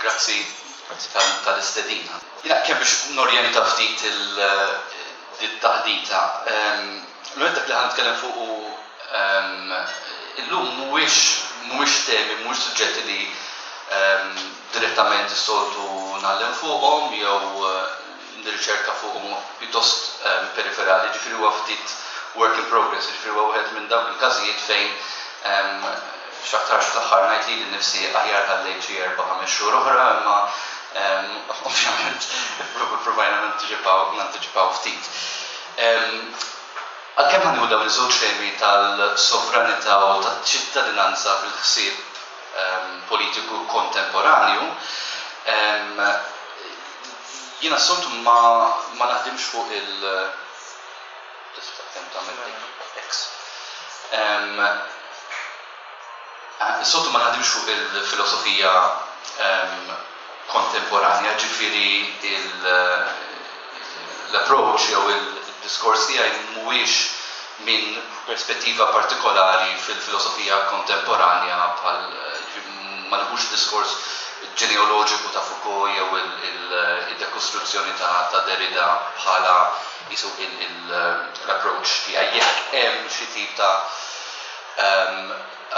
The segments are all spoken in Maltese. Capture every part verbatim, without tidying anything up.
Grazzi tal-istedina. Jiena kemm biex norjenta ftit il-taħdita. L-għed dak li ħa nitkellem fuq illum mhuwiex mhuwiex temi, mhuwiex suġġetti li direttament is-soltu ngħallem fuqhom jew nirriċerka fuqhom, pjuttost periferali, ġifieri huwa ftit work in progress, ġifieri huwa wieħed minn dawk il-każijiet fejn x'aktarx fl-aħħar ngħid lili nnifsi aħjar ħallejt xi erba' ħames xhur oħra, imma ovvjament provajna nantiċipaw nantiċipaw ftit. Għalkemm ħa nieħu dawn iż-żewġ temi tal-sovranità u taċ-ċittadinanza fil-ħsieb politiku kontemporanju, jiena s-soltu ma, ma naħdimx fuq il- tista' kemm tagħmel X. Is-soltu ma naħdimx fuq il-filosofija kontemporanja, ġifieri l-approach jew il-diskors tiegħi mhuwiex minn perspettiva partikolari fil-filosofija kontemporanja, bħal ma nieħux diskors ġenealoġiku ta' Foucault jew il-dekostruzzjoni ta' Derrida bħala jisu l-approach tiegħi. Jekk hemm xi tip ta'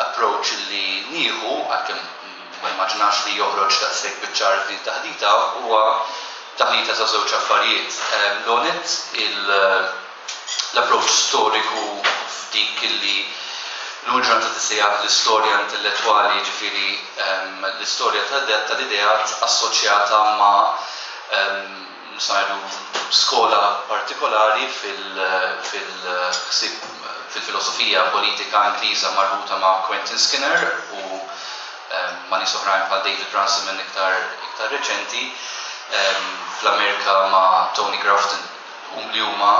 approach li nieħu, għalkemm ma immaġinax li joħroġ daqshekk biċ-ċar din taħdita, huwa taħlita ta' żewġ affarijiet. L-għonet l-approach storiku f'dik li l-ġurnata tissejjaħ l-istorja intellettwali, ġifieri l-istorja tal-ideat assoċjata ma' ngħidu skola partikolari fil-ħsieb fil-filosofija politika Ingliża marbuta ma' Quentin Skinner u ma' nies oħrajn bħal David Runciman iktar iktar reċenti, fl-Amerika ma' Tony Grafton, li huma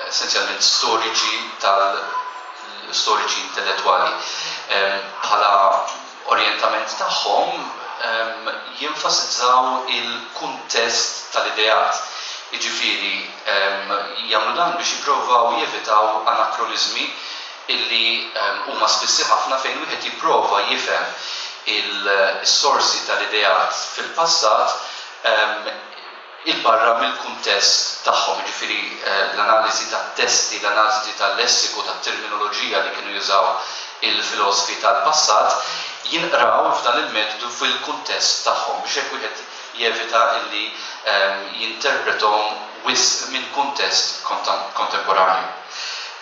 essenzjalment storiċi tal storiċi intellettwali. Bħala orjentament tagħhom jenfasizzaw il-kuntest tal-ideat. Jiġifieri jagħmlu dan biex jipprovaw jevitaw anakronizmi illi huma spissi ħafna fejn wieħed jipprova jifhem il-sorsi tal-ideat fil-passat il-barra mill-kuntest tagħhom, jiġifieri l-analiżi tat-testi, l-analiżi tal-lessiku, tat-terminoloġija li kienu jużaw il-filosofi tal-passat jinqraw f'dan il-metodu fil-kuntest tagħhom biex hekk wieħed jevita illi jinterpretom wisq minn kuntest kontemporanju.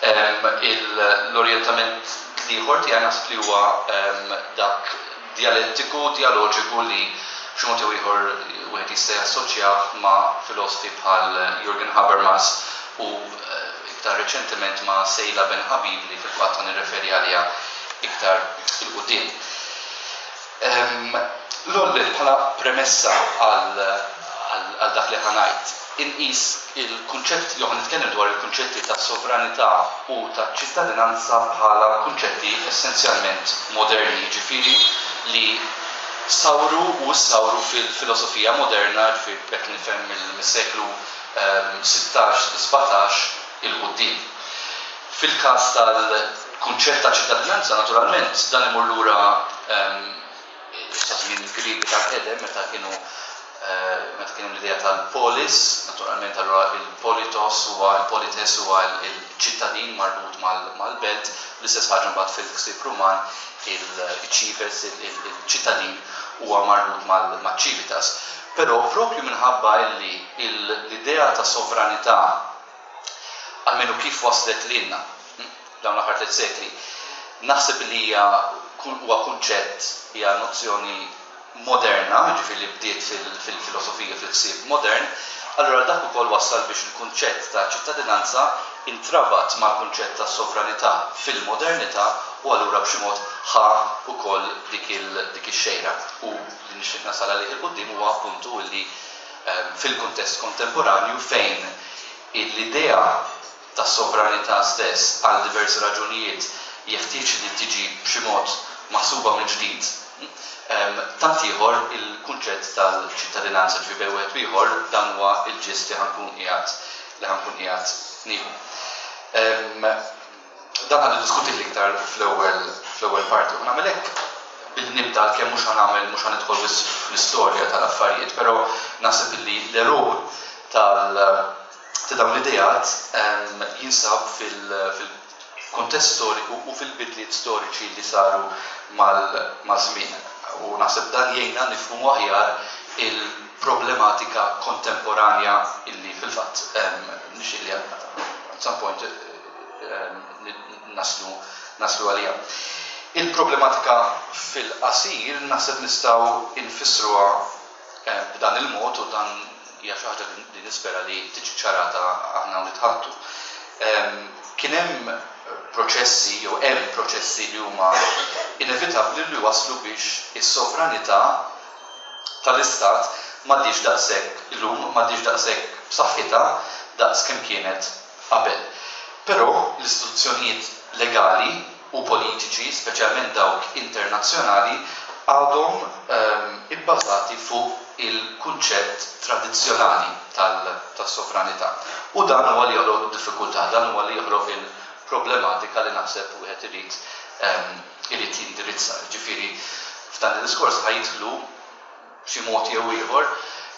L-orjentament l-ieħor tiegħi naħseb li huwa dak dialettiku, dialoġiku li b'xi mod jew ieħor wieħed jista' jassoċjah ma' filosofi bħal Jürgen Habermas u iktar reċentement ma' Seyla Benhabib, li fil-fatt nirreferi għaliha iktar 'il quddiem. L-ewwel, bħala premessa għal dak li ħa ngħid, inqis il-kunċett jew nitkellem dwar il-kunċetti ta' sovranità u ta' ċittadinanza bħala kunċetti essenzjalment moderni, ġifieri li sawru u sawru fil-filosofija moderna, ġifieri b'hekk nifhem mis-seklu sittax sbatax 'il quddiem. Fil-każ tal-kunċett ta' ċittadinanza, naturalment, dan imur lura sa żmien il-Griegi tal-qedem, meta kienu meta kienu l-idea tal-polis. Naturalment, allura il-politos huwa il-polites huwa il-ċittadin marbut mal-belt, l-istess ħaġa mbagħad fil-ħsieb Ruman il-cives, il-ċittadin huwa marbut mal-civitas. Però propju minħabba li l-idea ta' sovranità, almenu kif waslet lilna dawn l-aħħar tliet sekli, naħseb li hija huwa kunċett, hija nozzjoni moderna, ġifieri li bdiet fil-filosofija, fil-ħsieb modern, allura dak ukoll wassal biex il-kunċett ta' ċittadinanza intrabat mal-kunċett ta' sovranità fil-modernità u allura b'xi mod ħa ukoll dik ix-xejra. U li nixtieq nasal għalih 'il quddiem huwa appuntu li fil-kuntest kontemporanju, fejn l-idea ta' sovranità stess għal diversi raġunijiet jeħtieġ li tiġi b'xi mod maħsuba mill-ġdid, tant ieħor il-kunċett tal-ċittadinanza, ġifieri bejn wieħed ieħor dan huwa il-ġist li ħa nkun qiegħed li ħa nkun qiegħed nieħu. Dan ħa niddiskuti iktar fl-ewwel fl-ewwel parti. U nagħmel hekk Billi nibda, kemm mhux ħa nagħmel, mhux ħa nidħol fl-istorja tal-affarijiet, però naħseb illi l-għeruq tal ta' dawn l-ideat jinsab fil-kuntest storiku u fil-bidliet storiċi li saru mal-żmien. U naħseb dan jgħinna nifhmu aħjar il-problematika kontemporanja illi fil-fatt nixtieq li at some point naslu naslu għalija. Il-problematika fil-qasir naħseb nistgħu nfissruha b'dan il-mod, u dan hija xi ħaġa li nispera li tiġi ċarata aħna nitħattu. Kien hemm proċessi jew hemm proċessi li huma inevitabbli li waslu biex is-sovranità tal-istat m'għadix daqshekk illum, m'għadix daqshekk b'saħħitha daqs kemm kienet qabel. Però l-istituzzjonijiet legali u politiċi, speċjalment dawk internazzjonali, għadhom ibbażati fuq il-kunċett tradizzjonali tas-sovranità. U dan huwa li joħloq diffikultà, dan huwa li joħloq il-problematika li naħseb wieħed irid irid jindirizza. Ġifieri f'dan il-diskors ħa jidħlu b'xi mod jew ieħor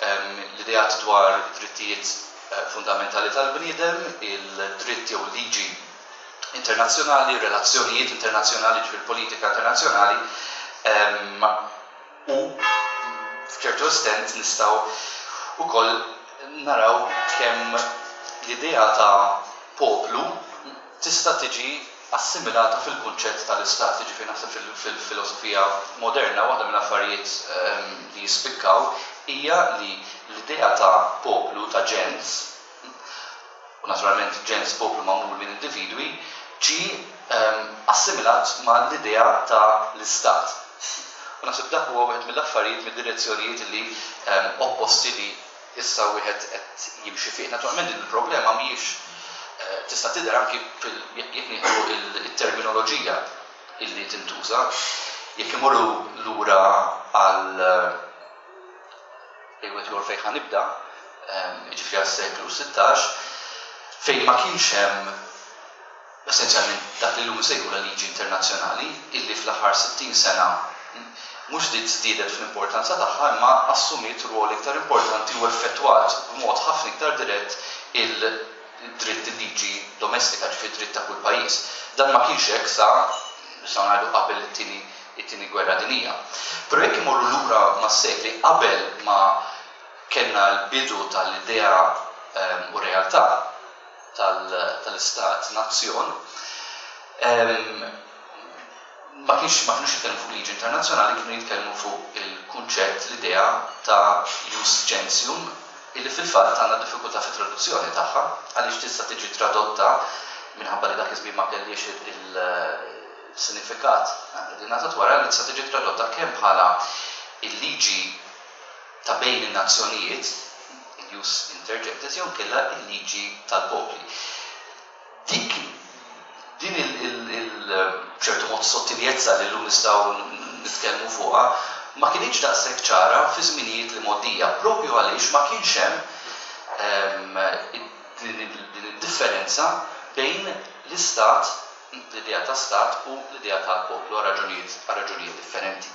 l-ideat dwar drittijiet fundamentali tal-bniedem, il-dritt jew liġi internazzjonali, relazzjonijiet internazzjonali, ġifieri politika internazzjonali, u f'ċertu estent nistgħu ukoll naraw kemm l-idea ta' poplu tista' tiġi assimilata fil-kunċett tal-istat. Ġifieri naħseb fil-filosofija moderna waħda mill-affarijiet li jispikkaw hija li l-idea ta' poplu, ta' ġens, u naturalment ġens, poplu magħmul minn individwi, ġi assimilat ma' l-idea ta' l-istat. U naħseb dak huwa wieħed mill-affarijiet, mid-direzzjonijiet li opposti li issa wieħed qed jimxi fih. Naturalment din il-problema mhijiex tista' tidher anki jekk nieħdu il-terminoloġija illi tintuża. Jekk imorru lura għal wieħed ieħor fejn ħa nibda, jiġifieri għas-seklu sittax, fejn ma kienx hemm essenzjalment dak li llum insejħu la liġi internazzjonali, illi fl-aħħar sittin sena mhux li żdiedet fl-importanza tagħha imma assumiet rwol iktar importanti u effettwat b'mod ħafna iktar dirett il-dritt, il-liġi domestika, ġifieri dritt ta' kull pajjiż. Dan ma kienx hekk sa nistgħu ngħidu qabel it-tieni it-tieni gwerra dinjija. Però jekk imorru lura mas-sekli qabel ma kellna l-bidu tal-idea u realtà tal-istat nazzjon, ma kienx ma kienux jitkellmu fuq liġi internazzjonali, kienu jitkellmu fuq il-kunċett, l-idea ta' jus gentium, illi fil-fatt għandna diffikultà fit-traduzzjoni tagħha, għaliex tista' tiġi tradotta, minħabba li dak iż-żmien ma kellix il-sinifikat li ngħatat wara, li tista' tiġi tradotta kemm bħala il-liġi ta' bejn in-nazzjonijiet, il-jus inter gentes, jew inkella il-liġi tal-popli. Dik din il-ċertu mod sottiljezza li llum nistgħu nitkellmu fuqha ma kienx daqshekk ċara fi żminijiet li mgħoddija, propju għaliex ma kienx hemm din id-differenza bejn l-istat, l-idea ta' stat u l-idea tal-poplu għal raġunijiet għal raġunijiet differenti.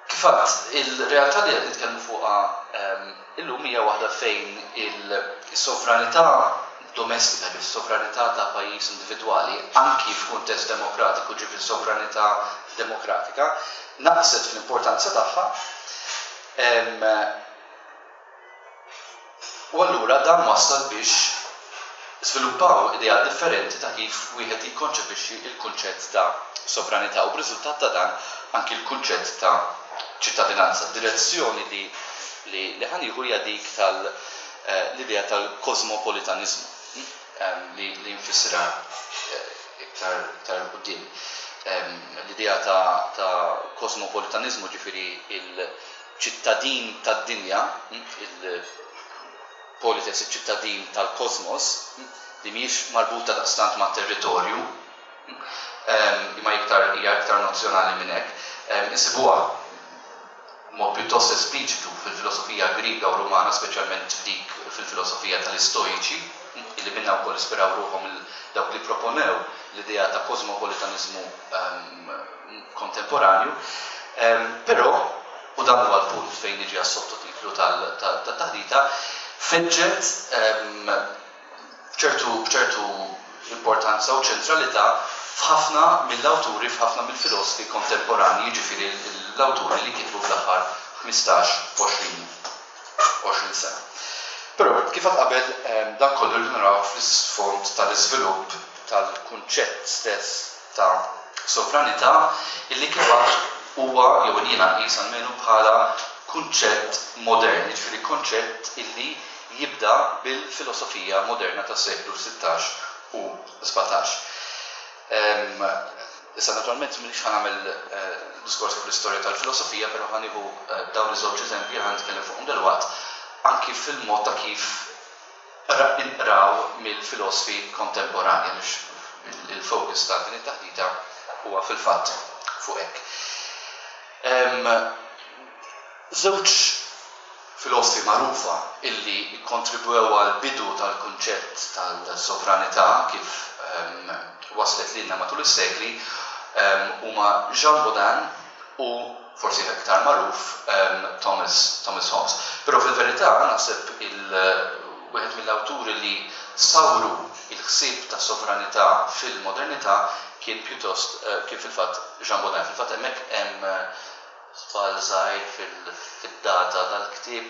Kif għedt, il-realtà li qed nitkellmu fuqha illum hija waħda fejn il-sovranità domestika, ġifieri sovranità ta' pajjiż individwali, anki f'kuntest demokratiku, ġifieri sovranità demokratika, naqset fl-importanza tagħha. U allura dan wassal biex żviluppaw idea differenti ta' kif wieħed jikkonċepixxi il-kunċett ta' sovranità u b'riżultat ta' dan anki l-kunċett ta' ċittadinanza. Direzzjoni li li ħa nieħu hija dik tal-idea tal-kosmopolitanizmu li li nfissirha iktar iktar quddiem. L-idea ta' ta' kosmopolitanizmu, ġifieri il-ċittadin tad-dinja, il-polites, iċ-ċittadin tal-kosmos, li mhijiex marbuta daqstant ma' territorju, imma iktar hija iktar nozzjonali minn hekk. Insibuha mod pjuttost espliċitu fil-filosofija Griega u Rumana, speċjalment f'dik fil-filosofija tal-Istoiċi. Illi minna wkoll ispiraw ruħhom dawk li proponew l-idea ta' kosmopolitanizmu um, kontemporanju. Um, però, u dan huwa l-punt fejn niġi għas-sottotitlu tal-taħdita, feġġet b'ċertu b'ċertu importanza u ċentralità f'ħafna mill-awturi, f'ħafna mill-filosfi kontemporanji, jiġifieri l-awturi li kitbu fl-aħħar ħmistax, għoxrin sena. Però, kif għad qabel, dan kollu li naraw fl-isfond tal-iżvilupp tal-kunċett stess ta' sovranità, illi kif huwa jew jiena nqis almenu bħala kunċett modern, jiġifieri konċett illi jibda bil-filosofija moderna tas-seklu sittax u sbatax. Issa naturalment m'iniex ħa nagħmel diskors fuq l-istorja tal-filosofija, però ħa nieħu dawn iż-żewġ eżempji, ħa nitkellem fuqhom dalwaqt, anki fil-mod ta' kif inqraw mill-filosfi kontemporanja, għaliex il-fokus ta' din it-taħdita huwa fil-fatt fuq hekk. Żewġ filosfi magħrufa illi kontribwew għal bidu tal-kunċett tal-sovranità kif waslet lilna matul is-sekli huma Jean Bodin u forsi aktar magħruf Thomas, Thomas Hobbes. Però fil-verità naħseb il wieħed mill-awturi li sawru il-ħsieb ta' sovranità fil-modernità kien pjuttost kien fil-fatt Jean Bodin. Fil-fatt hemmhekk hemm żball żgħir fid-data tal-ktieb,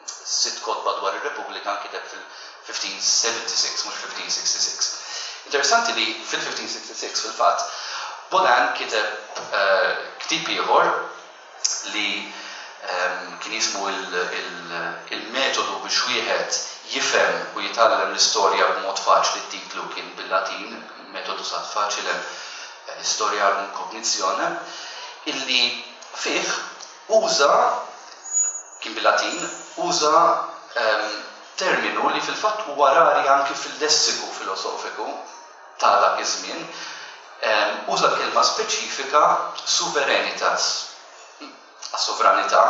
sitt kotba dwar ir-Repubblika nkiteb fil-fifteen seventy-six, mhux fifteen sixty-six. Interessanti li fil-fifteen sixty-six fil-fatt Bodin kiteb ktieb ieħor li kien jismu il-metodu biex wieħed jifhem u jitgħallem l-istorja b'mod faċli. T-titlu kien bil-Latin, Methodus ad facilem historiarum cognitionem, illi fih uża, kien bil-Latin, uża terminu li fil-fatt huwa rari anki fil-lessiku filosofiku ta' dak iż-żmien, uża l-kelma speċifika suverenitas, sovranità,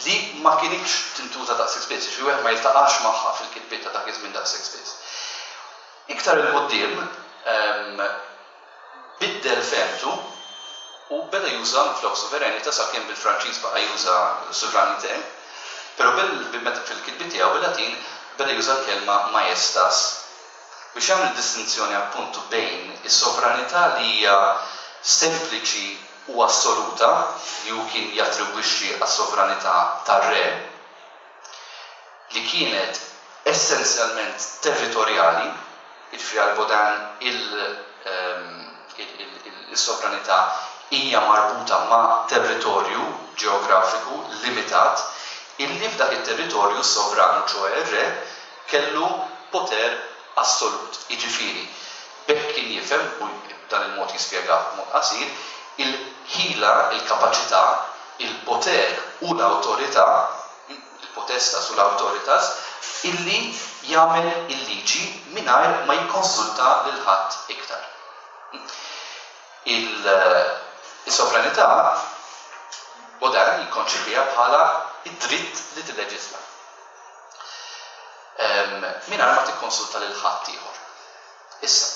li ma kienx tintuża daqshekk spiss, xi wieħed ma jiltaqax magħha fil-kitbiet ta' dak iż-żmien daqshekk spiss. Iktar 'il quddiem biddel fehmtu u beda juża minflok suverenitas, sakemm bil-Franċiż baqa' juża souveraineté, però fil-kitbiet tiegħu bil-Latin beda juża l-kelma majestas biex jagħmel distinzjoni appuntu bejn is-sovranità li hija sempliċi u assoluta, li hu kien jattribwixxi għas-sovranità tar-re, li kienet essenzjalment territorjali, jiġifieri għal Bodin il-sovranità hija marbuta ma' territorju ġeografiku limitat, illi f'dak it-territorju sovranu, ċoè r-re, kellu poter assolut. Jiġifieri, b'hekk kien jifhem, u dan il-mod jispjega b'mod qasir, il-ħila, il-kapaċità, il-poter u l-awtorità, il-potestas u l-autoritas, illi jagħmel il-liġi mingħajr ma jikkonsulta lil ħadd iktar. Il-sovranità Bodin jikkonċipija bħala id-dritt li tilleġisla mingħajr ma tikkonsulta lil ħadd ieħor. Issa,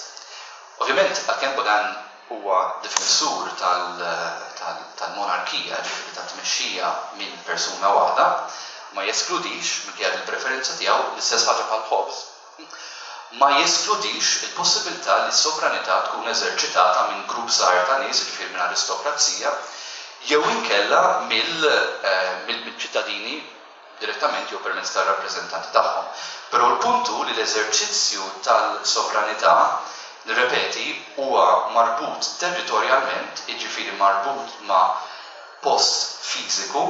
ovvjament, għalkemm Bodin huwa difensur tal-monarkija, ġifieri ta' tmexxija minn persuna waħda, ma jeskludix, minkejja il-preferenza tiegħu, l-istess ħaġa bħal Hobbes, ma jeskludix il-possibilità li s-sovranità tkun eżerċitata minn grupp żgħir ta' nies, jiġifieri minn aristokrazija, jew inkella mill-ċittadini direttament jew permezz tar-rappreżentanti tagħhom. Però l-punt hu li l-eżerċizzju tal-sovranità, nirrepeti, huwa marbut territorjalment, jiġifieri marbut ma' post fiżiku,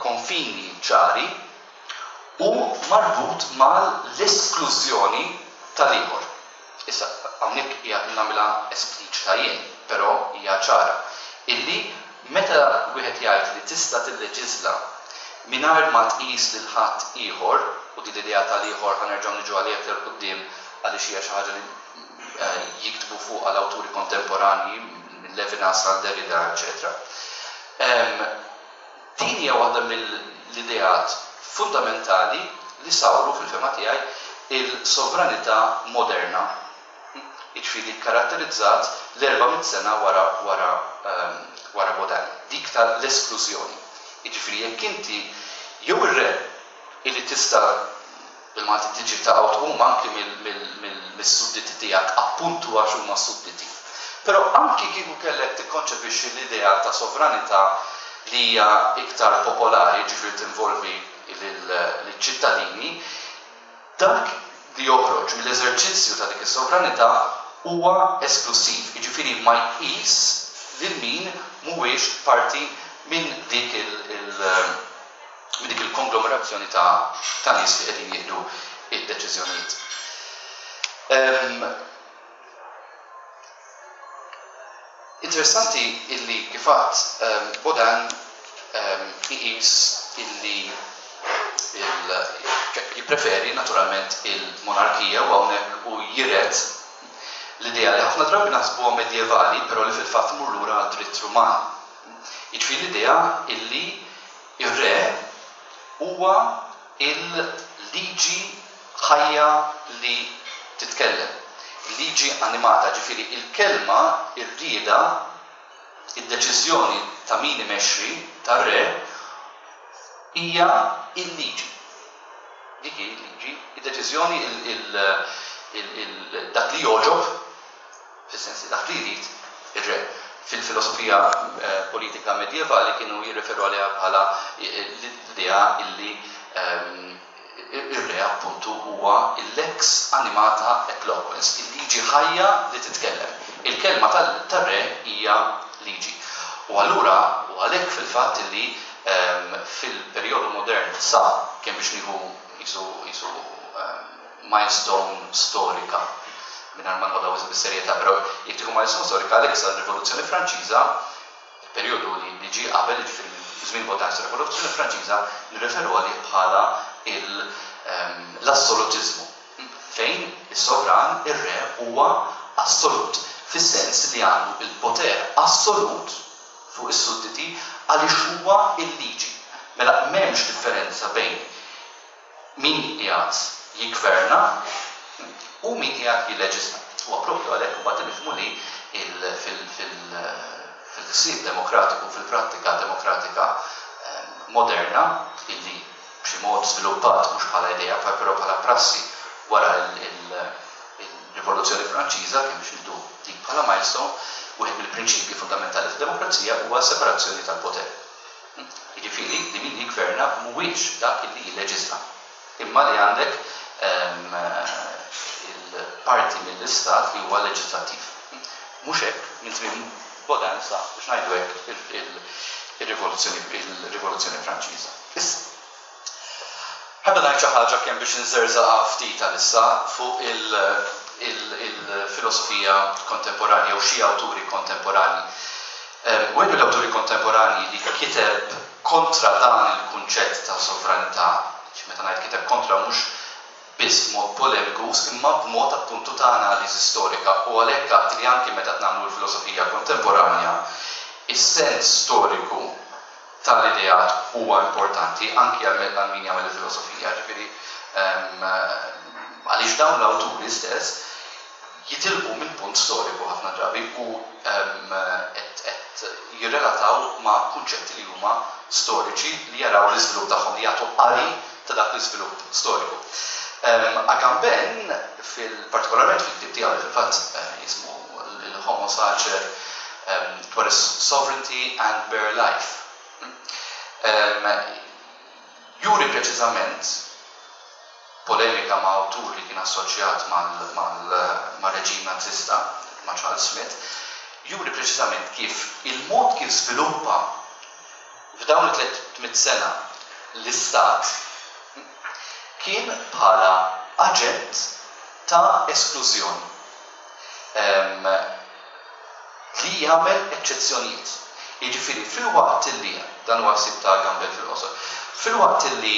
konfini ċari, u marbut mal-esklużjoni tal-ieħor. Issa, hawnhekk hija nagħmilha espliċita jien, però hija ċara, illi meta wieħed jgħid li tista' tilleġisla mingħajr ma tqis lil ħadd ieħor, u din l-idea tal-ieħor ħa nerġgħu niġu għaliha aktar quddiem għaliex hija xi ħaġa li jiktbu fuq għal awturi kontemporanji minn Levinas għal Derrida, eċċetera. Din hija waħda mill-ideat fundamentali li sawru fil-fehma tiegħi il-sovranità moderna, jiġifieri karatterizzat l-erba' mitt sena wara wara wara Bodin, dik tal-esklużjoni. Jiġifieri jekk inti jew ir-re illi tista' bil-Malti tiġi ta' tqum anki mill-sudditi tiegħek appuntu għax huma sudditi. Però anki kieku kellek tikkonċepixxi l-idea ta' sovranità li hija iktar popolari, ġifieri tinvolvi lill-ċittadini, dak li joħroġ mill-eżerċizzju ta' dik is-sovranità huwa esklusiv, jiġifieri ma jqis lil min mhuwiex parti minn dik il il-konglomerazzjoni ta' ta' nies li qegħdin jieħdu id-deċiżjonijiet. Interessanti illi kif għadt Bodin iqis illi jippreferi naturalment il-monarkija u hawnhekk u jiret l-idea li ħafna drabi naħsbuha medjevali, però li fil-fatt tmur lura għad dritt Ruman. Jiġifieri l-idea illi ir-re huwa il-liġi ħajja li titkellem, liġi animata, ġifieri il-kelma, ir-rieda, id-deċiżjoni ta' min imexxi tar-re hija il-liġi. Dik hi l-liġi, id-deċiżjoni, dak li jogħġob, fis-sens li dak li jrid ir-re. Fil-filosofija politika medjevali kienu jirreferu għaliha bħala l-idea illi ir-re appuntu huwa il-lex animata et loquens, il-liġi ħajja li titkellem. Il-kelma tar-re hija liġi. U allura, u għalhekk fil-fatt illi fil-perjodu modern sa kemm biex nieħu jisu milestone storika, mingħajr ma nħodha wisq bis-serjetà, però jekk tieħu milestone storika għalhekk sa r-Rivoluzzjoni Franċiża, il-perjodu li ġie qabel, jiġifieri żmien Bodin sa r-Rivoluzzjoni Franċiża, nirreferu għalih bħala l-assolutiżmu, fejn is-sovran, ir-re, huwa assolut, fis-sens li għandu il-poter assolut fuq is-sudditi għaliex huwa il-liġi. Mela m'hemmx differenza bejn min qiegħed jiggverna u min qiegħed jilleġisla. Huwa proprju għalhekk imbagħad nifhmu li fil-ħsieb demokratiku, fil-prattika demokratika moderna, illi b'xi mod żviluppat mhux bħala idea, però bħala prassi wara il-Rivoluzzjoni Franċiża, kemm biex nieħdu dik bħala milestone, wieħed mill-prinċipji fundamentali fid-demokrazija huwa s-separazzjoni tal-poter. Jiġifieri li min jiggverna mhuwiex dak illi jilleġisla, imma li għandek il-parti mill-istat li huwa leġislattiv. Mhux hekk minn żmien Bodin sa biex ngħidu hekk il-Rivoluzzjoni Franċiża. Issa, ħabba ngħid xi ħaġa kemm biex nżerżaqha ftit għalissa fuq il-filosofija kontemporanja u xi awturi kontemporanji. Wieħed mill-awturi kontemporanji li kiteb kontra dan il-kunċett ta' sovranità, meta ngħid kiteb kontra mhux biss b'mod polemiku, imma b'mod appuntu ta' analiżi storika, u għalhekk għadt li anki meta nagħmlu l-filosofija kontemporanja, is-sens storiku tal-ideat huwa importanti anki għal min jagħmel il-filosofija, ġifieri għaliex dawn l-awturi stess jitilqu minn punt storiku ħafna drabi u qed jirrelataw ma' kunċetti li huma storiċi li jaraw l-iżvilupp tagħhom, li jagħtu qari ta' dak l-iżvilupp storiku. Agamben, partikolarment fil-ktieb tiegħu li fil-fatt jismu il-Homo Sacer dwar is-Sovereignty and Bare Life, juri preċiżament polemika ma' awtur li kien assoċjat mal-reġim nazista, ma' Charles Smith, juri preċiżament kif il-mod kif żviluppa f'dawn it-tliet mitt sena l-istat kien bħala aġent ta' esklużjoni li jagħmel eċċezzjonijiet. Jiġifieri fil-waqt li dan huwa ħsieb ta' Agamben fil-qosor, fil-waqt li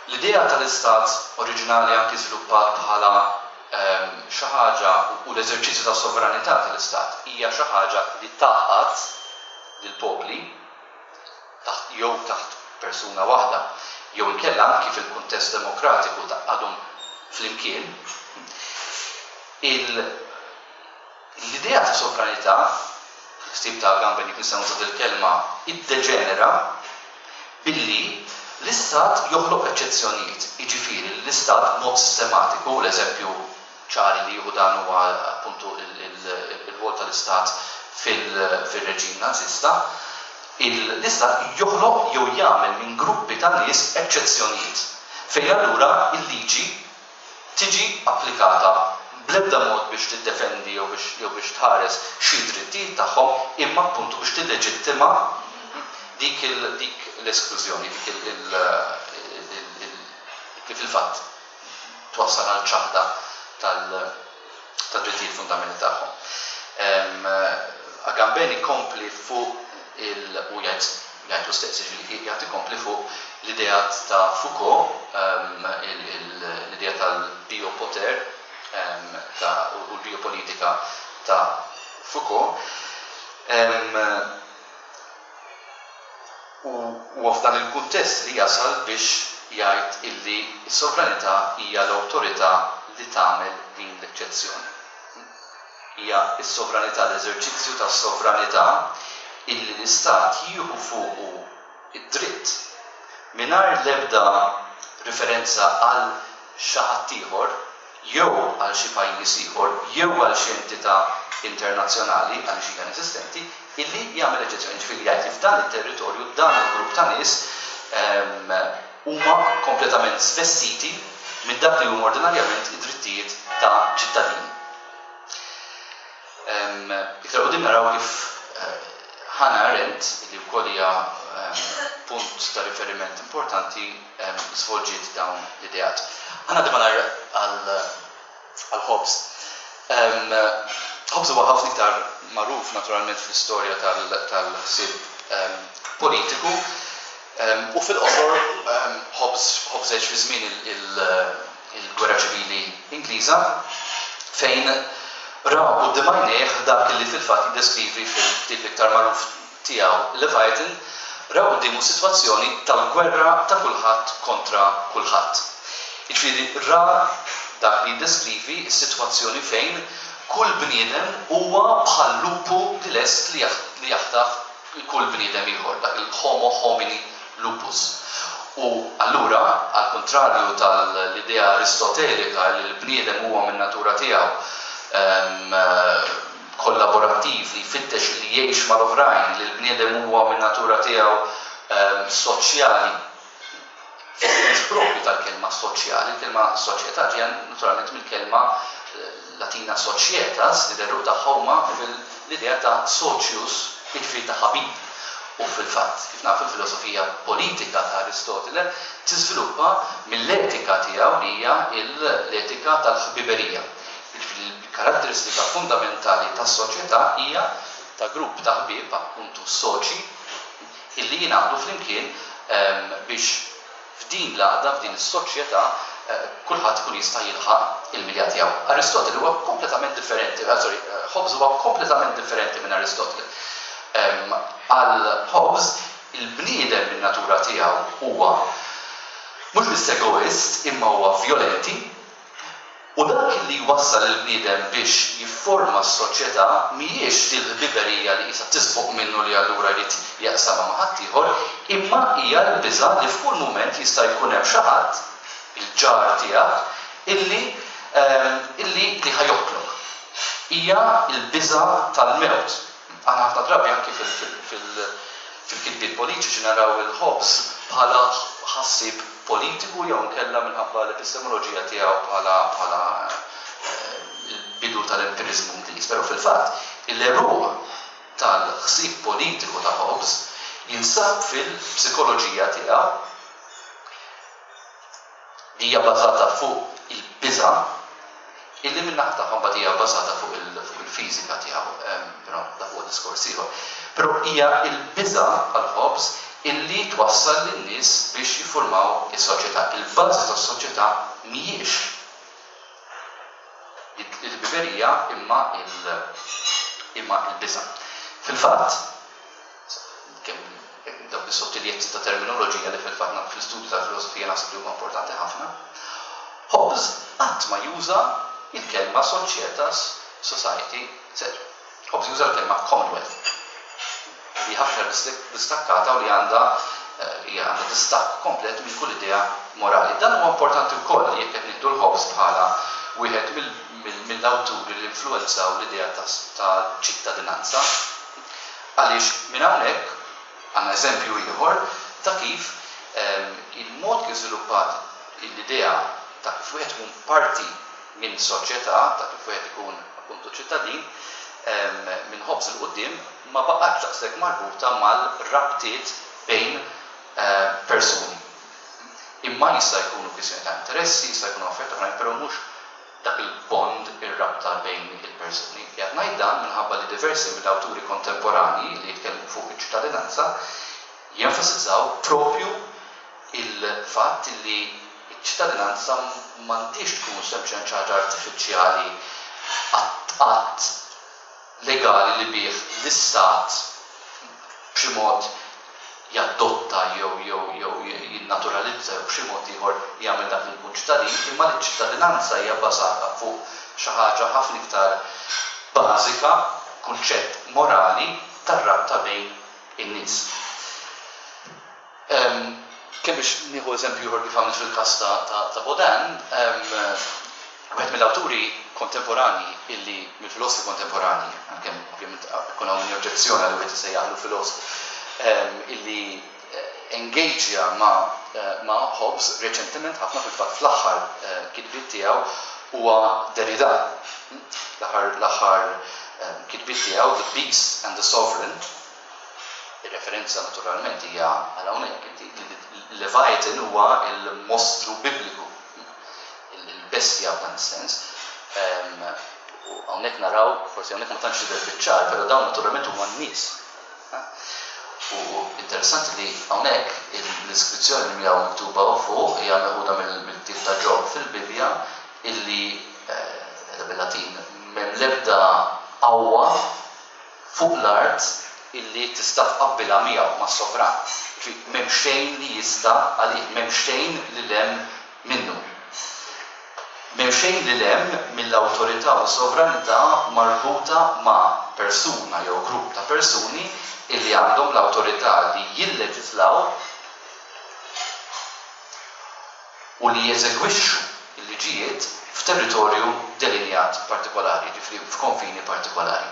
l-idea tal-istat oriġinali anki żviluppat bħala xi ħaġa u l-eżerċizzju ta' sovranità tal-istat hija xi ħaġa li tgħaqqad lill-popli taħt jew taħt persuna waħda jew inkella anki fil-kuntest demokratiku tgħaqqadhom flimkien, l-idea ta' sovranità, ħsieb ta' Agamben, jekk nistgħu nuża il-kelma, iddeġenera billi l-istat joħloq eċċezzjonijiet, jiġifieri l-istat mod sistematiku, l-eżempju ċari li jieħu dan huwa appuntu il-rwol tal-istat fil-reġim Nazista, l-istat joħloq jew jagħmel minn gruppi ta' nies eċċezzjonijiet, fejn allura il-liġi tiġi applikata bl-ebda mod biex tiddefendi jew biex jew biex tħares xi drittijiet tagħhom, imma appuntu biex tilleġittima dik dik l-esklużjoni, dik il kif il-fatt twassal għal ċaħda tal-drittijiet fundamentali tagħhom. Agamben ikompli fuq il u jgħid jgħidu stess, ġifieri jgħid ikompli fuq l-idea ta' Foucault, l-idea tal-biopoter ta' u l-biopolitika ta' Foucault. U f'dan il-kuntest li jasal biex jgħid illi s-sovranità hija l-awtorità li tagħmel din l-eċċezzjoni. Hija s-sovranità, l-eżerċizzju tas-sovranità illi l-istat jieħu fuqu id-dritt mingħajr l-ebda riferenza għal xi ħadd ieħor jew għal xi pajjiż ieħor jew għal xi entità internazzjonali, għaliex hija inesistenti, illi jagħmel eċċezzjoni. Ġifieri jgħid li f'dan it-territorju dan il-grupp ta' nies huma kompletament svestiti minn dak li huma ordinarjament id-drittijiet ta' ċittadini. Iktar quddiem naraw kif Hannah Arendt, li wkoll hija punt ta' riferiment importanti, svolġiet dawn l-ideat. Ħa ngħaddi malajr għal Hobbes. Hobbes huwa ħafna iktar magħruf naturalment fl-istorja tal-ħsieb politiku, u fil-qosor Hobbes Hobbes għex fi żmien il-Gwerra Ċivili Ingliża, fejn ra quddiem għajnejh dak li fil-fatt jiddeskrivi fil-ktieb iktar magħruf tiegħu, Leviathan, ra quddiemu sitwazzjoni tal-gwerra ta' kulħadd kontra kulħadd. Jiġifieri ra dak li jiddeskrivi s-sitwazzjoni fejn kull bniedem huwa bħal lupu li lest li jaħtaf kull bniedem ieħor, dak il-homo homini lupus. U allura, għal kontrarju tal-idea aristotelika li l-bniedem huwa minn natura tiegħu kollaborattiv, li jfittex li jgħix mal-oħrajn, li l-bniedem huwa minn natura tiegħu soċjali, fis-sens propju tal-kelma soċjali, il-kelma soċjetà ġejja naturalment mill-kelma Latina societas, li l-għeruq tagħha huma fil-idea ta' socius, jiġifieri ta' ħabib. U fil-fatt, kif nafu, l-filosofija politika ta' Aristotele tiżviluppa mill-etika tiegħu li hija l-etika tal-ħbiberija. Il-karatteristika fundamentali tas-soċjetà hija ta' grupp ta' ħbieb, appuntu soċi, illi jingħaqdu flimkien biex f'din l-għaqda, f'din is-soċjetà, kulħadd ikun jista' jilħaq il-milja tiegħu. Aristotele huwa kompletament differenti, sorry, Hobbes huwa kompletament differenti minn Aristotele. Għal Hobbes, il-bniedem minn natura tiegħu huwa mhux biss egoist, imma huwa violenti, u dak li jwassal il-bniedem biex jifforma s-soċjetà mhijiex il-ħbiberija li qisha tisboq minnu li allura jrid jaqsamha ma' ħaddieħor, imma hija l-biża' li f'kull mument jista' jkun hemm xi ħadd, il-ġar tiegħek, illi illi li ħa joqtlok. Hija l-biża' tal-mewt. Aħna ħafna drabi anki fil-kitbiet politiċi naraw il-Hobbes bħala ħassieb politiku jew nkella minħabba l-epistemoloġija tiegħu bħala bħala il-bidu tal-empirizmu Ingliż. Però fil-fatt il-għeruq tal-ħsieb politiku ta' Hobbes jinsab fil-psikoloġija tiegħu li hija bbażata fuq il-biża' illi min-naħa tagħha mbagħad hija bbażata fuq il-fiżika tiegħu, però dak huwa diskors ieħor. Però hija l-biża' għal Hobbes illi twassal lin-nies biex jiffurmaw is-soċjetà. Il-bażi tas-soċjetà mhijiex il-ħbiberija imma imma il-biża'. Fil-fatt, kemm dawn Sottiljetzi ta' terminoloġija li fil-fatt fl-istudju tal-filosofija naħseb li huma importanti ħafna. Hobbes qatt ma juża il-kelma societas, society, et cetera. Hobbes juża l-kelma commonwealth, li ħafna distakkata u li għandha eh, għandha distakk komplet minn kull idea morali. Dan huwa importanti wkoll jekk qed nieħdu l-Hobbes bħala wieħed mill-awturi li influenzaw l-idea ta' ċittadinanza. Għaliex minn hawnhekk għandna eżempju ieħor ta' kif ehm, il-mod kif żviluppat l-idea ta' kif wieħed ikun parti minn soċjetà, ta' kif wieħed ikun appuntu ċittadin, ehm, minn Hobbes 'il quddiem ma baqgħetx daqshekk marbuta mal-rabtiet bejn eh, persuni. Imma jista' jkunu kwistjoni ta' interessi, jista' jkunu affarijiet oħrajn, però mhux dak il-bond, ir-rabta bejn il-persuni. Qiegħed ngħid dan minħabba li diversi mill-awturi kontemporani li jitkellmu fuq iċ-ċittadinanza jenfasizzaw propju il-fatt li ċ-ċittadinanza m'għandix tkun sempliċement xi ħaġa artifiċjali, att legali li bih l-istat b'xi mod jadotta jew jew jew jinnaturalizza jew b'xi mod ieħor jagħmel dak li jkun ċittadin, imma li ċ-ċittadinanza hija bbażata fuq xi ħaġa ħafna iktar bażika, kunċett morali tar-rabta bejn in-nies. Kemm biex nieħu eżempju ieħor kif għamilt fil-każ ta' Bodin, wieħed mill-awturi kontemporani illi mill-filosfi kontemporani, għalkemm ovvjament ikun hawn min oġġezzjona li wieħed isejjaħlu filosfu, illi engageja ma' ma' Hobbes reċentement ħafna, fil-fatt fl-aħħar kitbiet tiegħu, huwa Derrida. L-aħħar l-aħħar kitbiet tiegħu, The Beast and the Sovereign, ir-referenza naturalment hija għal hawnhekk, Leviathan huwa il-mostru bibliku, il-bestja f'dan is-sens. U hawnhekk naraw, forsi hawnhekk ma tantx tidher biċ-ċar, però dawn naturalment huma n-nies. U interessanti li hawnhekk l-iskrizzjoni li miegħu miktuba fuq hija meħuda mill-ktieb ta' Ġob fil-Bibja, illi eh, bil-Latin m'hemm l-ebda qawwa fuq l-art illi tista' tqabbilha miegħu, mas-sovran. M'hemm xejn li jista' għalih, m'hemm xejn lil hemm minnu. M'hemm xejn lil hemm mill-awtorità u sovranità marbuta ma' persuna jew grupp ta' persuni illi għandhom l-awtorità li jilleġislaw u li jeżegwixxu l-liġijiet f'territorju delinjat partikolari, ġifieri f'konfini partikolari.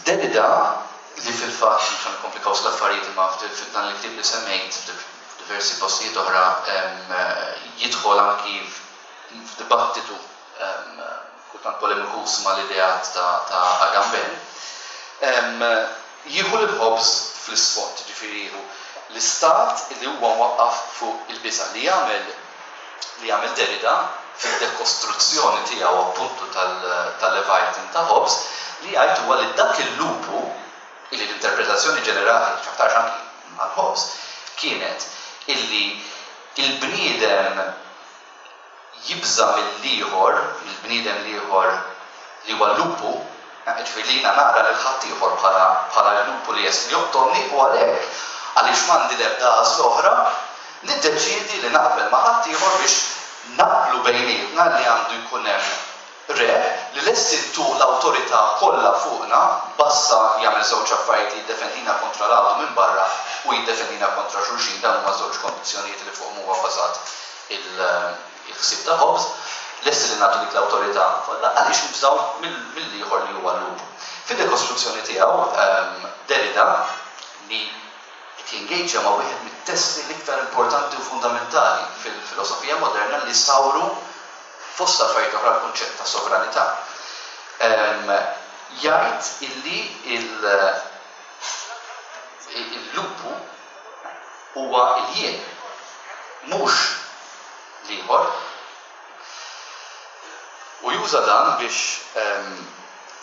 Derrida, li fil-fatt, mhux nikkomplikaw l-affarijiet, imma f'dan il-ktieb li semmejt, f'diversi postijiet oħra, jidħol anki f'dibattitu kultant polemikus ma l-ideat ta' Agamben, jieħu l-Hobbes fl-isfond, ġifieri jieħu l-istat li huwa mwaqqaf fuq il-biża'. Li jagħmel li jagħmel Derrida fid-dekostruzzjoni tiegħu appuntu tal-Leviathan ta' Hobbes, li jgħid huwa li dak il-lupu, illi l-interpretazzjoni ġenerali, x'aktarx anki għal Hobbes, kienet illi il-bniedem jibża mill-ieħor, mill-bniedem l-ieħor li huwa lupu, ġifieri li jiena nara lil ħaddieħor bħala bħala l-lupu li lest li joqtolni, u għalhekk, għaliex m'għandi l-ebda għażla oħra, niddeċiedi li naqbel ma' ħaddieħor biex naqblu bejnietna li għandu jkun hemm re li lesti ntuh l-awtorità kollha fuqna, basta jagħmel żewġ affarijiet: jiddefendina kontra l minn barra u jiddefendina kontra xulxin. Dawn huma żewġ kondizzjonijiet li fuqhom huwa bbażat il-ħsieb ta' Hobbes. Lesti li nagħtu dik l-awtorità kollha għaliex nibżgħu mill-ieħor li huwa l-lupu. Fid-dekostruzzjoni tiegħu Derrida, li qed jingaġġja ma' wieħed mit-testi l-iktar importanti u fundamentali fil-filosofija moderna li sawru fost affarijiet oħra l-kunċett ta' sovranità, jgħid illi il-lupu huwa il-jien, mhux l-ieħor. U juża dan biex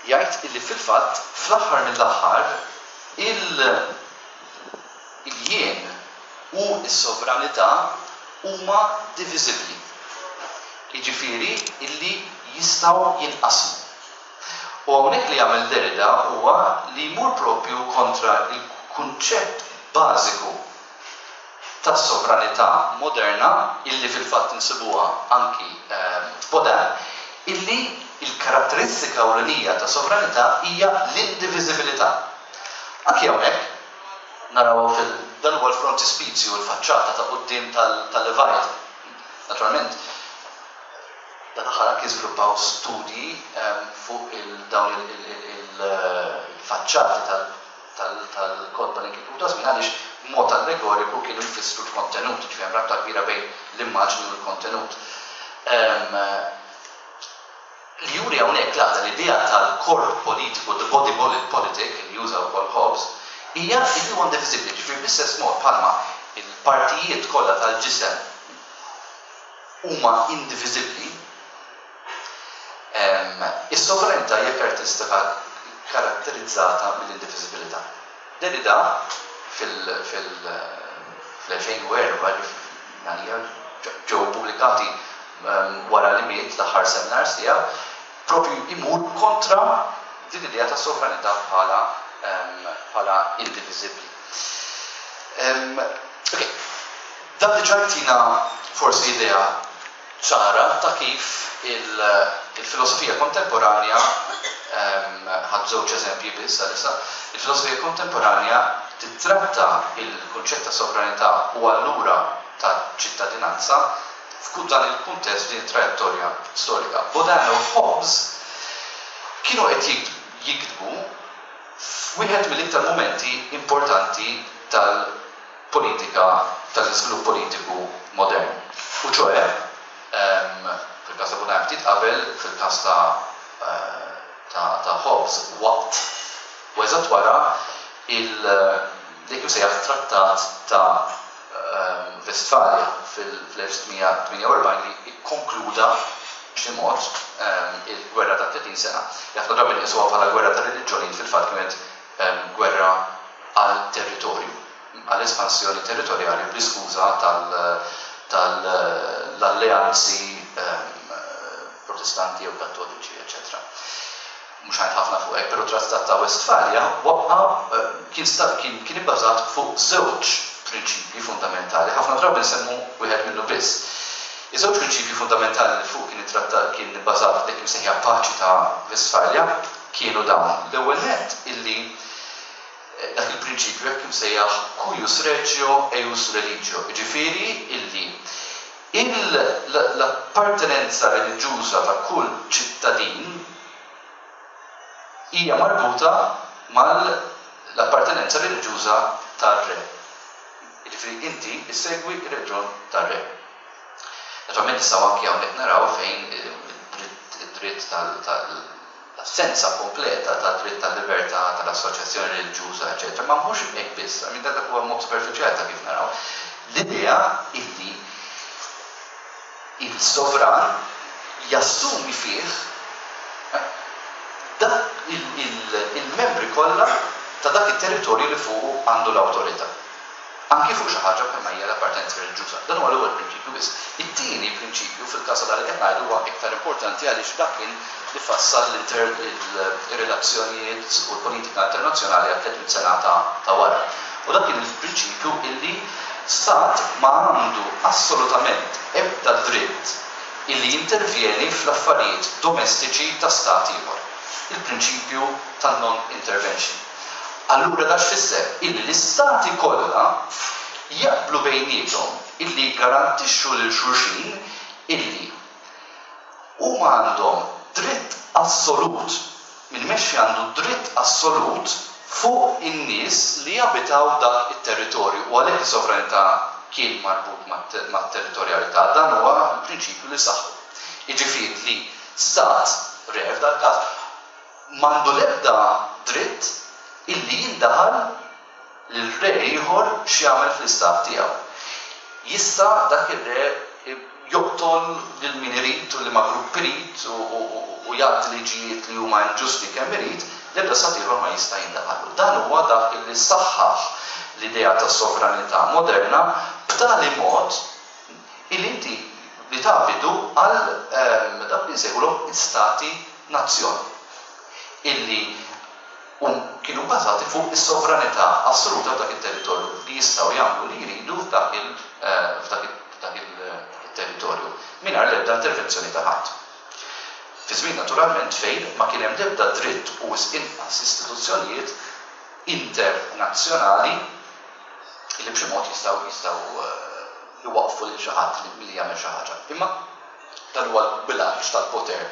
jgħid illi fil-fatt, fl-aħħar mill-aħħar, il-jien u s-sovranità huma diviżibbli. Jiġifieri illi jistgħu jinqasmu. U hawnhekk li jagħmel Derrida huwa li jmur propju kontra kunċett bażiku tas-sovranità moderna, illi fil-fatt insibuha anki f'Baudin, illi il-karatteristika ewlenija ta' sovranità hija l-indiviżibilità. Anki hawnhekk naraw fil dan huwa l-frontispizju, l-faċċata ta' quddiem tal-Leviathan. Naturalment, dan aħħar anki żviluppaw studji fuq dawn il-faċċati tal-kotba li kitbu ta' żmien, għaliex b'mod allegoriku kienu jfissru l-kontenut, ġifieri hemm rabta kbira bejn l-immaġni u l-kontenut. Li juri hawnhekk l-għaqda l-idea tal-korp politiku, the body politic, li juża wkoll Hobbes, hija li huwa indiviżibbli, ġifieri bl-istess mod bħalma il-partijiet kollha tal-ġisem huma indiviżibbli, is-sovranità hija karatteristika karatterizzata mill-indiviżibilità. Derrida fil-elfejn u erba', ġew pubblikati wara li miet l-aħħar seminars tiegħu, propju imur kontra din l-idea ta' sovranità bħala bħala indiviżibbli. Ok, dan diġà jtina forsi idea ċara ta' kif il-filosofija kontemporanja, ħadd żewġ eżempji biss għalissa, il-filosofija kontemporanja titratta il-kunċett ta' sovranità u allura ta' ċittadinanza f'kull dan il-kuntest din trajettorja storika. Baudin u Hobbes kienu qed jiktbu f'wieħed mill-iktar momenti importanti tal-politika, tal-iżvilupp politiku modern. U ċoħe, fil-każ ta' Baudin ftit qabel, fil-każ ta' Hobbes waqt u eżatt wara il-dik imsejjaħ trattat ta' Westfalia fil-elf sitt mija tmienja u erbgħin li ikkonkluda b'xi mod il-gwerra ta' tletin sena. Ħafna drabi nqisuha bħala gwerra ta' reliġjonijiet, fil-fatt kienet gwerra għal territorju, għal espansjoni territorjali bl-iskuża tal-alleanzi protestanti jew kattoliċi, eċċetera. Mhux ħajt ħafna fuq hekk, però trattat ta' Westfalia waqqa kien kien ibbażat fuq żewġ prinċipji fundamentali, ħafna drabi nsemmu wieħed minnu biss. Iż-żewġ prinċipji fundamentali li fuq kien it-trattat kien ibbażat dik imsejħa paċi ta' Westfalia kienu dawn. L-ewwel nett illi dak il-prinċipju hekk imsejjaħ cuius regio eius religio, jiġifieri illi l-appartenenza reliġjuża ta' kull ċittadin hija marbuta mal-appartenenza reliġjuża tar-re. Jiġifieri inti issegwi r-reġjon tar-re. Naturalment nistgħu anki hawnhekk naraw fejn id-dritt tal-assenza kompleta tad-dritt tal-libertà tal-assoċjazzjoni reliġjuża, eċċetera. Ma mhux hekk biss, I mean, dak huwa mod superfiċjali ta' kif naraw. L-idea illi il-sovran jassumi fih dak il-membri kollha ta' dak it-territorju li fuq għandu l-awtorità. Anki fuq xi ħaġa bħalma hija l-appartenenza reliġjuża. Dan huwa l-ewwel prinċipju biss. It-tieni prinċipju fil-każ tal qed ngħidu huwa iktar importanti għaliex dak kien li fassal l-relazzjonijiet u l-politika internazzjonali għal tliet mitt sena ta' wara. U dak kien il-prinċipju illi stat ma għandu assolutament ebda dritt illi jintervjeni fl-affarijiet domestiċi ta' stat ieħor. Il-prinċipju tan-non-intervention. Allura da x'fisser? Illi l-istati kollha jaqblu bejniethom illi jgarantixxu lil xulxin illi huma għandhom dritt assolut, min imexxi għandu dritt assolut fuq in-nies li jabitaw dak it-territorju, u għalhekk is-sovranità kien marbut mat-territorjalità. Dan huwa l-prinċipju li saħħu. Jiġifieri li stat, re f'dak każ, m'għandu l-ebda dritt illi jindaħal lil re ieħor x'jagħmel fl-istat tiegħu. Jista' dak ir-re joqtol lil min irid u liema grupp irid u jgħaddi liġijiet li huma inġusti kemm irid, l-ebda stat ieħor ma jista' jindaħallu. Dan huwa dak illi saħħaħ l-idea ta' sovranità moderna b'tali mod illi inti li tabidu għal, ehm, dak li nsejħulhom istati nazzjon illi um, kienu bbażati fuq is-sovranità assoluta f'dak it-territorju li jistgħu jagħmlu li jridu f'dak il-territorju mingħajr l-ebda intervenzjoni ta' ħadd. Fi żmien naturalment fejn ma kien hemm l-ebda dritt u inqas istituzzjonijiet internazzjonali li b'xi mod jistgħu jistgħu jwaqfu lil xi ħadd milli jagħmel xi ħaġa. Imma dan huwa l-bilanċ tal-poter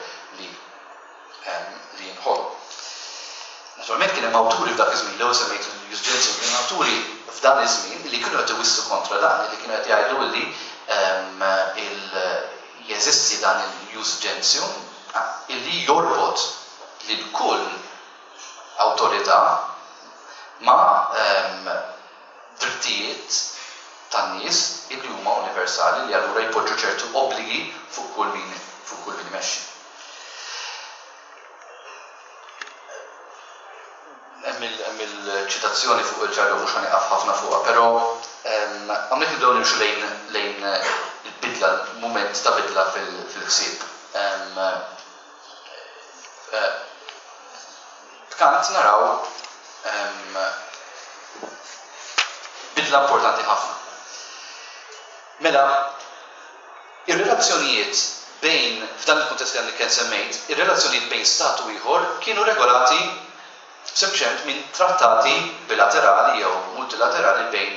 li li jinħoloq. Naturalment kien hemm awturi f'dak iż-żmien, l-ewwel semmejt il-Jus Gentium, kien awturi f'dan iż-żmien li kienu qed iwissu kontra dan, li kienu qed jgħidu li jeżisti dan il-Jus Gentium illi jorbot lil kull awtorità ma' drittijiet tan-nies illi huma universali li allura jpoġġu ċertu obbligi fuq kull min fuq kull min imexxi. Hemm il-ċitazzjoni fuq il-ġarru mhux ħanieqaf ħafna fuqha, però hawnhekk nibdew nimxu lejn lejn il-bidla, mument ta' bidla fil-ħsieb. Kant naraw bidla importanti ħafna. Mela, ir-relazzjonijiet bejn, f'dan il-kuntest li għandi kien semmejt, ir-relazzjonijiet bejn stat u ieħor kienu regolati sempliċement minn trattati bilaterali jew multilaterali bejn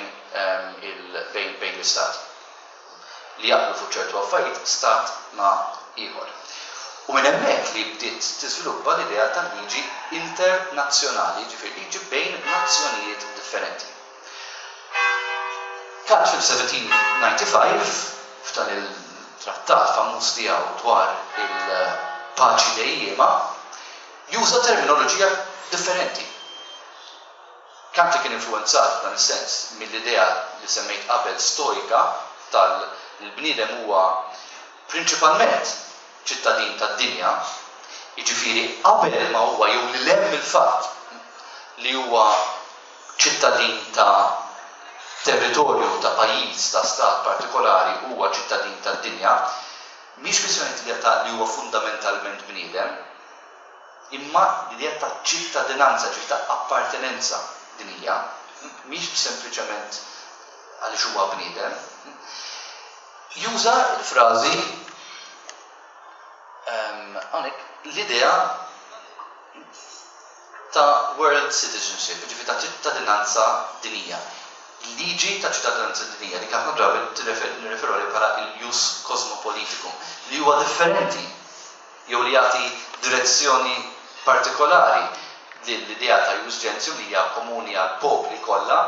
bejn bejn l-istat li jaqblu fuq ċertu affarijiet stat ma' ieħor. U minn hemmhekk li bdiet tiżviluppa l-idea tal-liġi internazzjonali, ġifieri liġi bejn nazzjonijiet differenti. Kant fil-seventeen ninety-five, f'dan il-trattat famuż tiegħu dwar il-paċi dejjema, juża terminoloġija differenti. Kant kien influenzat f'dan is-sens mill-idea li semmejt qabel stoika tal-bniedem huwa prinċipalment ċittadin tad-dinja, jiġifieri qabel ma huwa jew li hemm il-fatt li huwa ċittadin ta' territorju, ta' pajjiż, ta' stat partikolari, huwa ċittadin tad-dinja, mhix kwistjoni ta' li huwa fundamentalment bniedem, imma l-idea ta' ċittadinanza, ġifieri ta' appartenenza dinija, mhix sempliċement għaliex huwa bniedem. Juża l-frażi hawnhekk l-idea ta' world citizenship, ġifieri ta' ċittadinanza dinija. Liġi ta' ċittadinanza dinija li ħafna drabi nirreferu għalih bħala il-jus cosmopoliticum, li huwa differenti jew li jagħti direzzjoni partikolari lill-idea ta' jus gentium li hija komuni għal popli kollha,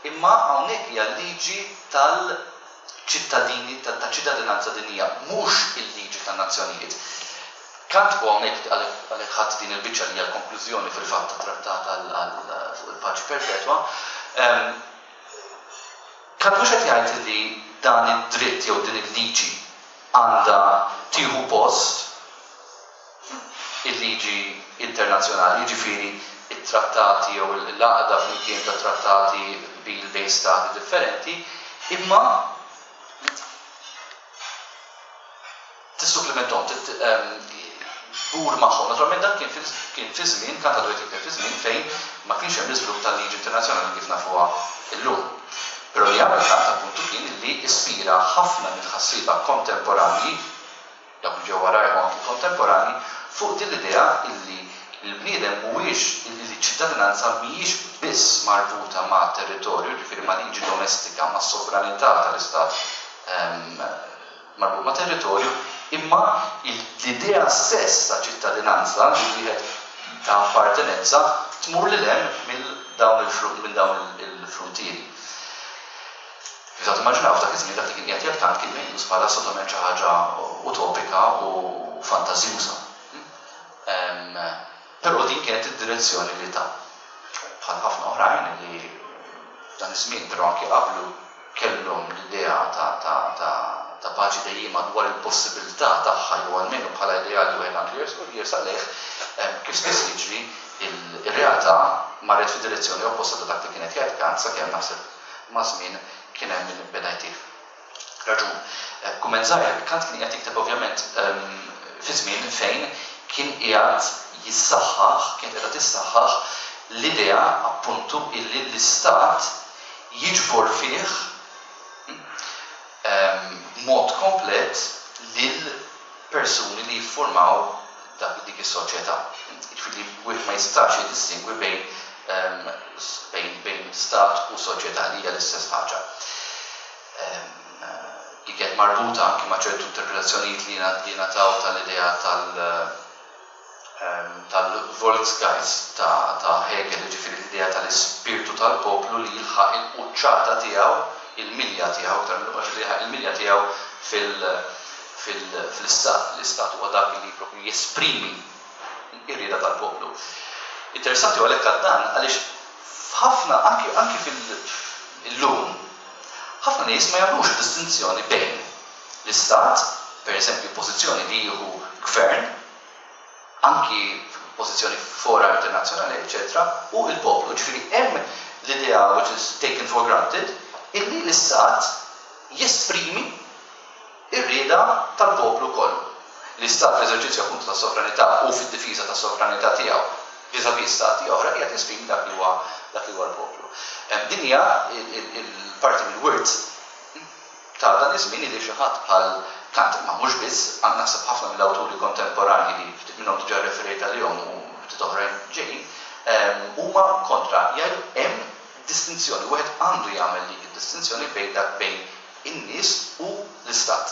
imma hawnhekk hija liġi tal-ċittadini ta' ċittadinanza dinija, mhux il-liġi tan-nazzjonijiet. Kant u hawnhekk għalhekk ħadd din il-biċċa li hija l-konklużjoni fil-fatt tat-trattat fuq il-paċi perpetwa. Kant mhux qed jgħid li dan id-dritt jew din il-liġi għandha tieħu post il-liġi internazzjonali, jiġifieri it-trattati jew l-għaqda flimkien ta' trattati bil bejn stati differenti, imma tissupplementhom, tmur magħhom. Naturalment dan kien fi żmien, Kant għadu jitkellem fi żmien fejn ma kienx hemm l-iżvilupp tal-liġi internazzjonali kif nafuha llum. Però li għamel Kant appuntu kien li ispira ħafna mill-ħassieba kontemporanji, dawk li ġew warajhom anki kontemporanji, fuq din l-idea illi l-bniedem mhuwiex illi l-ċittadinanza mhijiex biss marbuta ma' territorju, ġifieri ma' liġi domestika, ma' sovranità tal-istat marbut ma' territorju, imma l-idea stess ta' ċittadinanza li wieħed ta' appartenenza tmur lil hemm minn dawn il-fruntieri. Kif ta' timmaġinaw f'dak iż-żmien dak li kien qiegħed jgħid Kant kien meqjus bħala assolutament xi ħaġa utopika u fantażjuża. Però din kienet id-direzzjoni li ta' bħal ħafna oħrajn li f'dan iż-żmien però anke qablu kellhom l-idea ta' ta' ta' ta' paċi dejjima dwar il-possibilità tagħha jew almenu bħala idea li wieħed għandu jersaq lejh, kif spiss jiġri ir-realtà marret fid-direzzjoni opposta ta' dak li kienet jgħid Kant sakemm naħseb ma' żmien kien hemm min beda jtih raġun. Kumment żgħir, Kant kien qiegħed jikteb ovvjament fi żmien fejn kien qiegħed jissaħħaħ, kienet qiegħda tissaħħaħ L-idea appuntu illi l-istat jiġbor fih mod komplet lil persuni li jiffurmaw dak dik is-soċjetà. Jiġifieri wieħed ma jistax jiddistingwi bejn bejn bejn stat u soċjetà, li hija l-istess ħaġa. Li kienet marbuta anki ma' ċertu interpretazzjonijiet li jingħataw tal-idea tal tal-Volksgeist ta', ta Hegel, ġifieri l-idea tal-ispirtu tal-poplu li jilħaq il-quċċata tiegħu, il-milja tiegħu, aktar mill li il-milja tiegħu fil-istat. L-istat huwa dak li propju jesprimi ir-rieda tal-poplu. Interessanti u għalhekk dan għaliex f'ħafna, anki anki fil-lum, ħafna nies ma jagħmlux distinzjoni bejn l-istat, per eżempju, pożizzjoni li jieħu gvern, anki pożizzjoni fora internazzjonali, eċetera, u il-poplu. Ġifieri hemm l-idea which is taken for granted illi l-istat jesprimi ir-rieda tal-poplu kollu. L-istat fl-eżerċizzju appuntu ta' sovranità u fid-difiża ta' sovranità tiegħu vis-à-vis stati oħra qiegħed jesprimi dak li huwa dak li huwa l-poplu. Din hija il-parti mill-wirt ta' dan iż-żmien li xi ħadd bħal Kant, ma mhux biss, għand naħseb ħafna mill-awturi kontemporanji li ftit minnhom diġà referejt għalihom u ftit oħrajn ġejjin, huma kontra, jgħidu hemm distinzjoni, wieħed għandu jagħmel dik id-distinzjoni bejn dak bejn in-nies u l-istat.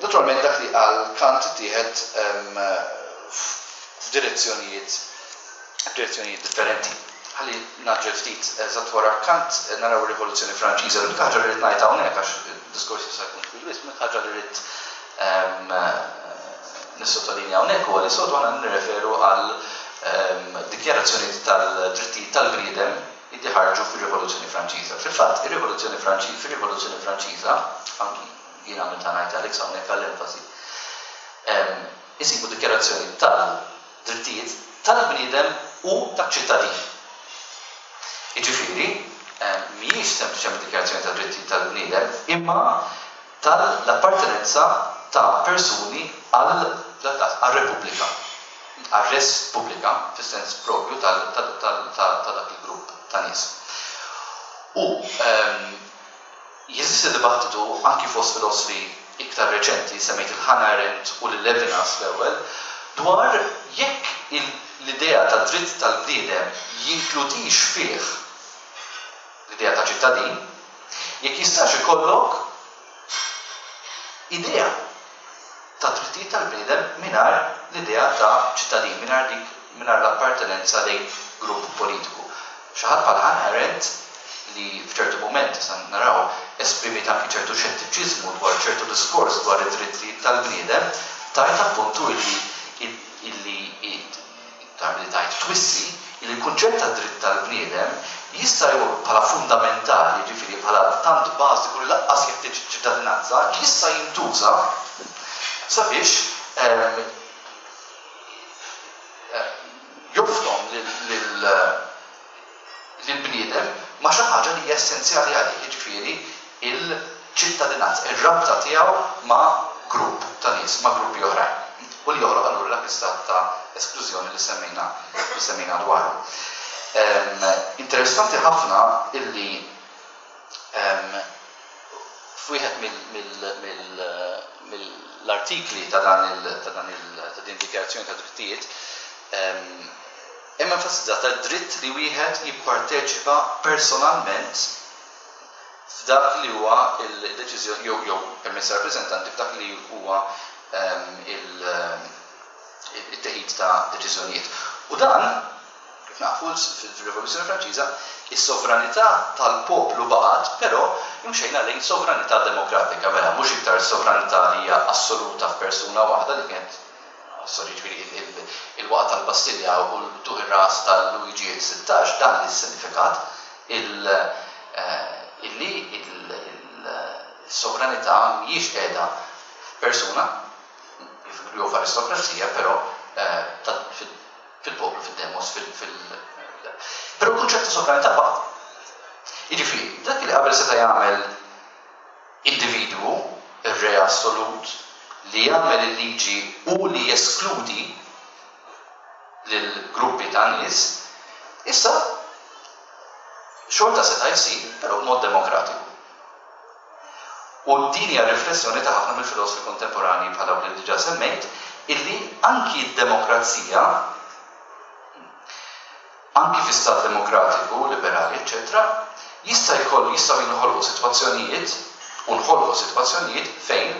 Naturalment dak li qal Kant ittieħed f'direzzjonijiet f'direzzjonijiet differenti. Ħalli ngħaġġel ftit, eżatt wara Kant naraw ir-Rivoluzzjoni Franċiża. L-unika ħaġa li rrid ngħid hawnhekk, għax id-diskors jista' jkun twil wisq, l-unika ħaġa li rrid nissottolinja hawnhekk huwa li soltu aħna nirreferu għal dikjarazzjoni tal-drittijiet tal-bniedem li ħarġu fir-Rivoluzzjoni Franċiża. Fil-fatt, ir-Rivoluzzjoni Franċiża, fir-Rivoluzzjoni Franċiża, anki jien għamilt ngħid Alex hawnhekk għall-enfasi, isibu dikjarazzjoni tal-drittijiet tal-bniedem u taċ-ċittadin. Jiġifieri, mhijiex sempliċement dikjarazzjoni tad-drittijiet tal-bniedem, imma tal-appartenenza ta' persuni għal-Repubblika, għal-res pubblika, fis-sens propju ta' dak il-grupp ta' nies. U jeżisti dibattitu anki fost filosofi iktar reċenti, semmejt il-Hannah Arendt u l-Levinas l-ewwel, dwar jekk l-idea ta' dritt tal-bniedem jinkludix fih l-idea ta' ċittadin, jekk jistax ikollok idea ta' drittijiet tal-bniedem mingħajr l-idea ta' ċittadin, mingħajr dik mingħajr l-appartenenza lejn grupp politiku. Xi ħadd bħal Hannah Arendt li f'ċertu moment sa naraw esprimiet anki ċertu xettiċiżmu dwar ċertu diskors dwar id-drittijiet tal-bniedem, tajt appuntu illi illi li tajt twissi illi l-kunċett ta' dritt tal-bniedem jista' jkun bħala fundamentali, ġifieri bħala tant bażiku li lanqas jeħtieġ ċittadinanza, jista' jintuża sabiex joftom lill-bniedem ma' xi ħaġa li hija essenzjali għalih, jiġifieri il-ċittadinanza, ir-rabta tiegħu ma' grupp ta' nies, ma' gruppi oħrajn. U li joħloq allura dak l-istat ta' esklużjoni li semmejna li semmejna dwaru. Interessanti ħafna illi f'wieħed mill-artikli ta' dan ta' dan ta' din dikjarazzjoni ta' drittijiet hemm enfasizzata d-dritt li wieħed jipparteċipa personalment f'dak li huwa il-deċiżjoni jew jew permezz ta' rappreżentanti f'dak li huwa il-teħid ta' deċiżjonijiet. U dan, kif nafu fil-Rivoluzzjoni Franċiża, is-sovranità tal-poplu baqgħet, però imxejna lejn sovranità demokratika, mela mhux iktar sovranità li hija assoluta f'persuna waħda li kienet, sorry, ġifieri il-waqgħa tal-Bastilja u l-tuħ ir-ras tal-Luigi sittax, dan li sinifikat illi il-sovranità mhijiex qiegħda f'persuna jew f'aristokrazija, però fil-poplu, fil-demos, fil. Però l-kunċett ta' sovranità baqa'. Jiġifieri, dak li qabel seta' jagħmel individwu, ir-re assolut, li jagħmel il-liġi u li jeskludi lil gruppi ta' nies, issa xorta seta' jsir, però b'mod demokratiku. U din hija riflessjoni ta' ħafna mill-filosofi kontemporanji bħal dawk li diġà semmejt, illi anki d-demokrazija, anki fi stat demokratiku, liberali, eċċetera, jista' jkollu jistgħu jinħolqu sitwazzjonijiet u nħolqu sitwazzjonijiet fejn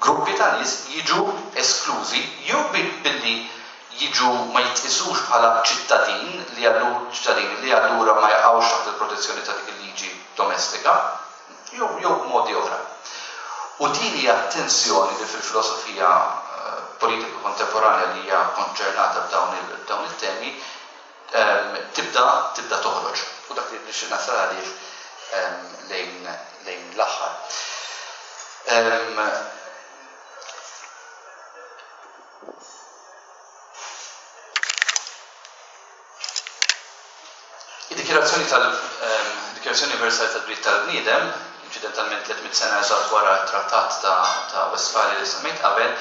gruppi ta' nies jiġu esklużi jew billi jiġu ma jitqisux bħala ċittadin li allura ċittadini li allura ma jaqgħux taħt il-protezzjoni ta' dik il-liġi domestika, jew jew modi oħra. U din hija tensjoni li fil-filosofija politika kontemporanja li hija konċernata b'dawn il-temi tibda tibda toħroġ. U dak li nixtieq nasal għalih lejn lejn l-aħħar. Id-Dikjarazzjoni tal-Dikjarazzjoni Universali tad-Dritt tal-Bniedem, inċidentalment tliet mitt sena eżatt wara t-Trattat ta' Westfalia li semmejt qabel,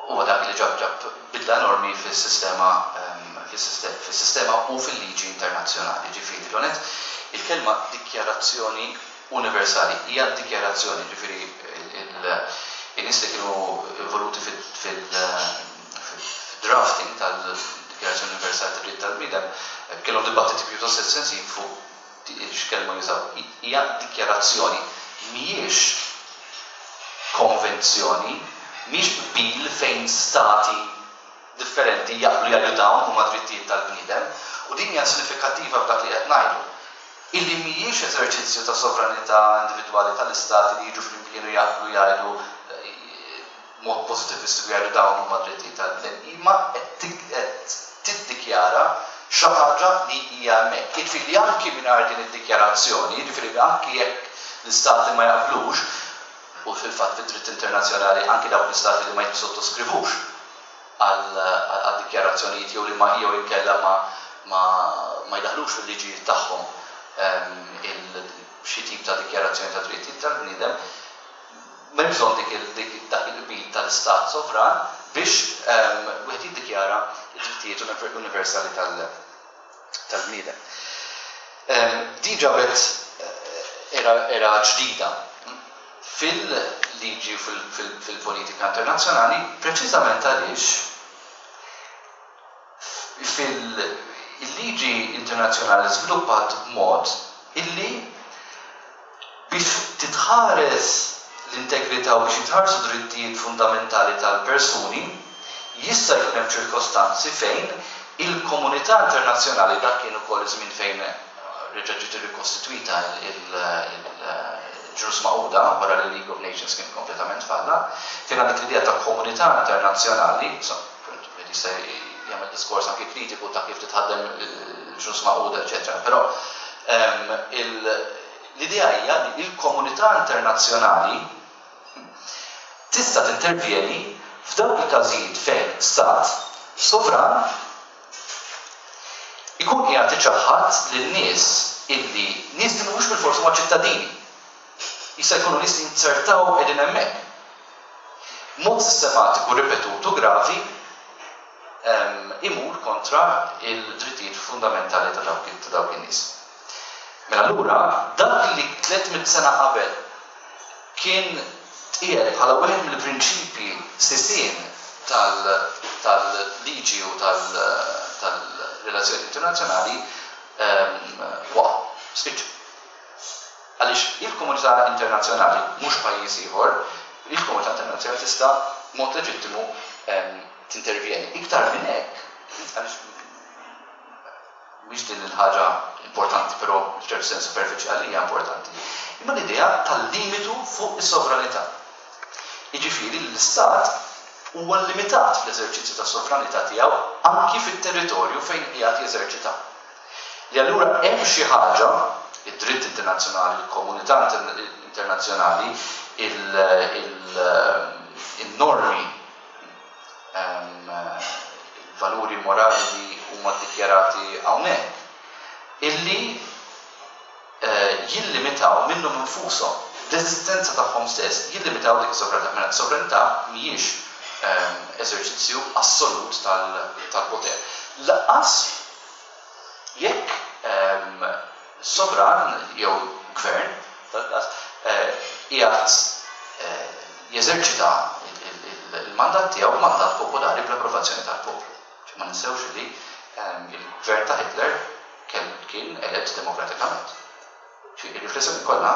huwa dak li ġab ġab bidla enormi fis-sistema fis-sistema u fil-liġi internazzjonali. Ġifieri l-onet il-kelma dikjarazzjoni universali hija dikjarazzjoni, ġifieri in-nies li kienu involuti fil-drafting tal-Dikjarazzjoni Universali tad-Dritt tal-Bniedem kellhom dibattiti pjuttost estensiv fuq x'kelma jużaw. Hija dikjarazzjoni, mhijiex konvenzjoni, mhijiex qbil fejn stati differenti jaqblu jgħidu dawn huma drittijiet tal-bniedem, u din hija sinifikattiva f'dak li qed ngħidu. Illi mhijiex eżerċizzju ta' sovranità individwali tal-istati li jiġu flimkien u jaqblu jgħidu mod pożitivistiku jgħidu dawn huma drittijiet tal-bniedem, imma qed tiddikjara xi ħaġa li hija hemmhekk. Jiġifieri anki mingħajr din id-dikjarazzjoni, jiġifieri anki jekk l-istati ma jaqblux, u fil-fatt fid-dritt internazzjonali anki dawk l-istati li ma jissotoskrivux għal dikjarazzjonijiet jew li ma jew inkella ma ma jdaħlux fil-liġijiet tagħhom xi tip ta' dikjarazzjoni ta' drittijiet tal-bniedem, m'hemm bżonn dik dak il-qbil tal-istat sovran biex wieħed jiddikjara d-drittijiet universali tal-bniedem. Din ġabet era ġdida fil-liġi u fil-politika internazzjonali, preċiżament għaliex fil-liġi internazzjonali żviluppat b'mod illi biex titħares l-integrità u biex jitħarsu drittijiet fundamentali tal-persuni, jista' jkun hemm ċirkostanzi fejn il-komunità internazzjonali, dak kien ukoll iż-żmien fejn reġa' ġiet irrikostitwita il-Ġnus Magħquda wara li League of Nations kien kompletament falla, fejn għandek l-idea ta' komunità internazzjonali, wieħed jista' jagħmel diskors anke kritiku ta' kif titħaddem il-Ġnus Magħquda, eċetera. Però l-idea hija li l-komunità internazzjonali tista' tintervjeni f'dawk il-każijiet fejn stat sovran ikun qiegħed iċaħħad lin-nies illi nies li mhux bilfors huma ċittadini. Jista' jkunu nies li jinzertaw qegħdin hemmhekk. Mod sistematiku, ripetut u gravi imur kontra il-drittijiet fundamentali ta' dawk in-nies. Mela allura dak li tliet mitt sena qabel kien tqiegħed bħala wieħed mill-prinċipji sisien tal-liġi u tal-relazzjoni internazzjonali waqa', spiċċa. Għaliex il-komunità internazzjonali, mhux pajjiż ieħor, il-komunità internazzjonali tista' b'mod leġittimu tintervjeni. Iktar minn hekk, għaliex mhix din il-ħaġa importanti, però f'ċertu sens superfiċjali hija importanti, imma l-idea tal-limitu fuq is-sovranità. Jiġifieri l-istat huwa limitat fl-eżerċizzju tas-sovranità tiegħu anki fit-territorju fejn qiegħed jeżerċita. Li allura hemm xi ħaġa, id-dritt internazzjonali, il-komunità internazzjonali, il-normi, il-valuri morali li huma ddikjarati hawnhekk, illi jillimitaw minnhom infushom, l-eżistenza tagħhom stess jillimitaw dik is-sovranità. Mela s-sovranità mhijiex eżerċizzju assolut tal-poter. Lanqas jekk sovran jew gvern qiegħed jeżerċita il-mandat tiegħu, mandat popolari bl-approvazzjoni tal-poplu. Ma ninsewx li il-gvern ta' Hitler kien elett demokratikament. Il-riflessjoni kollha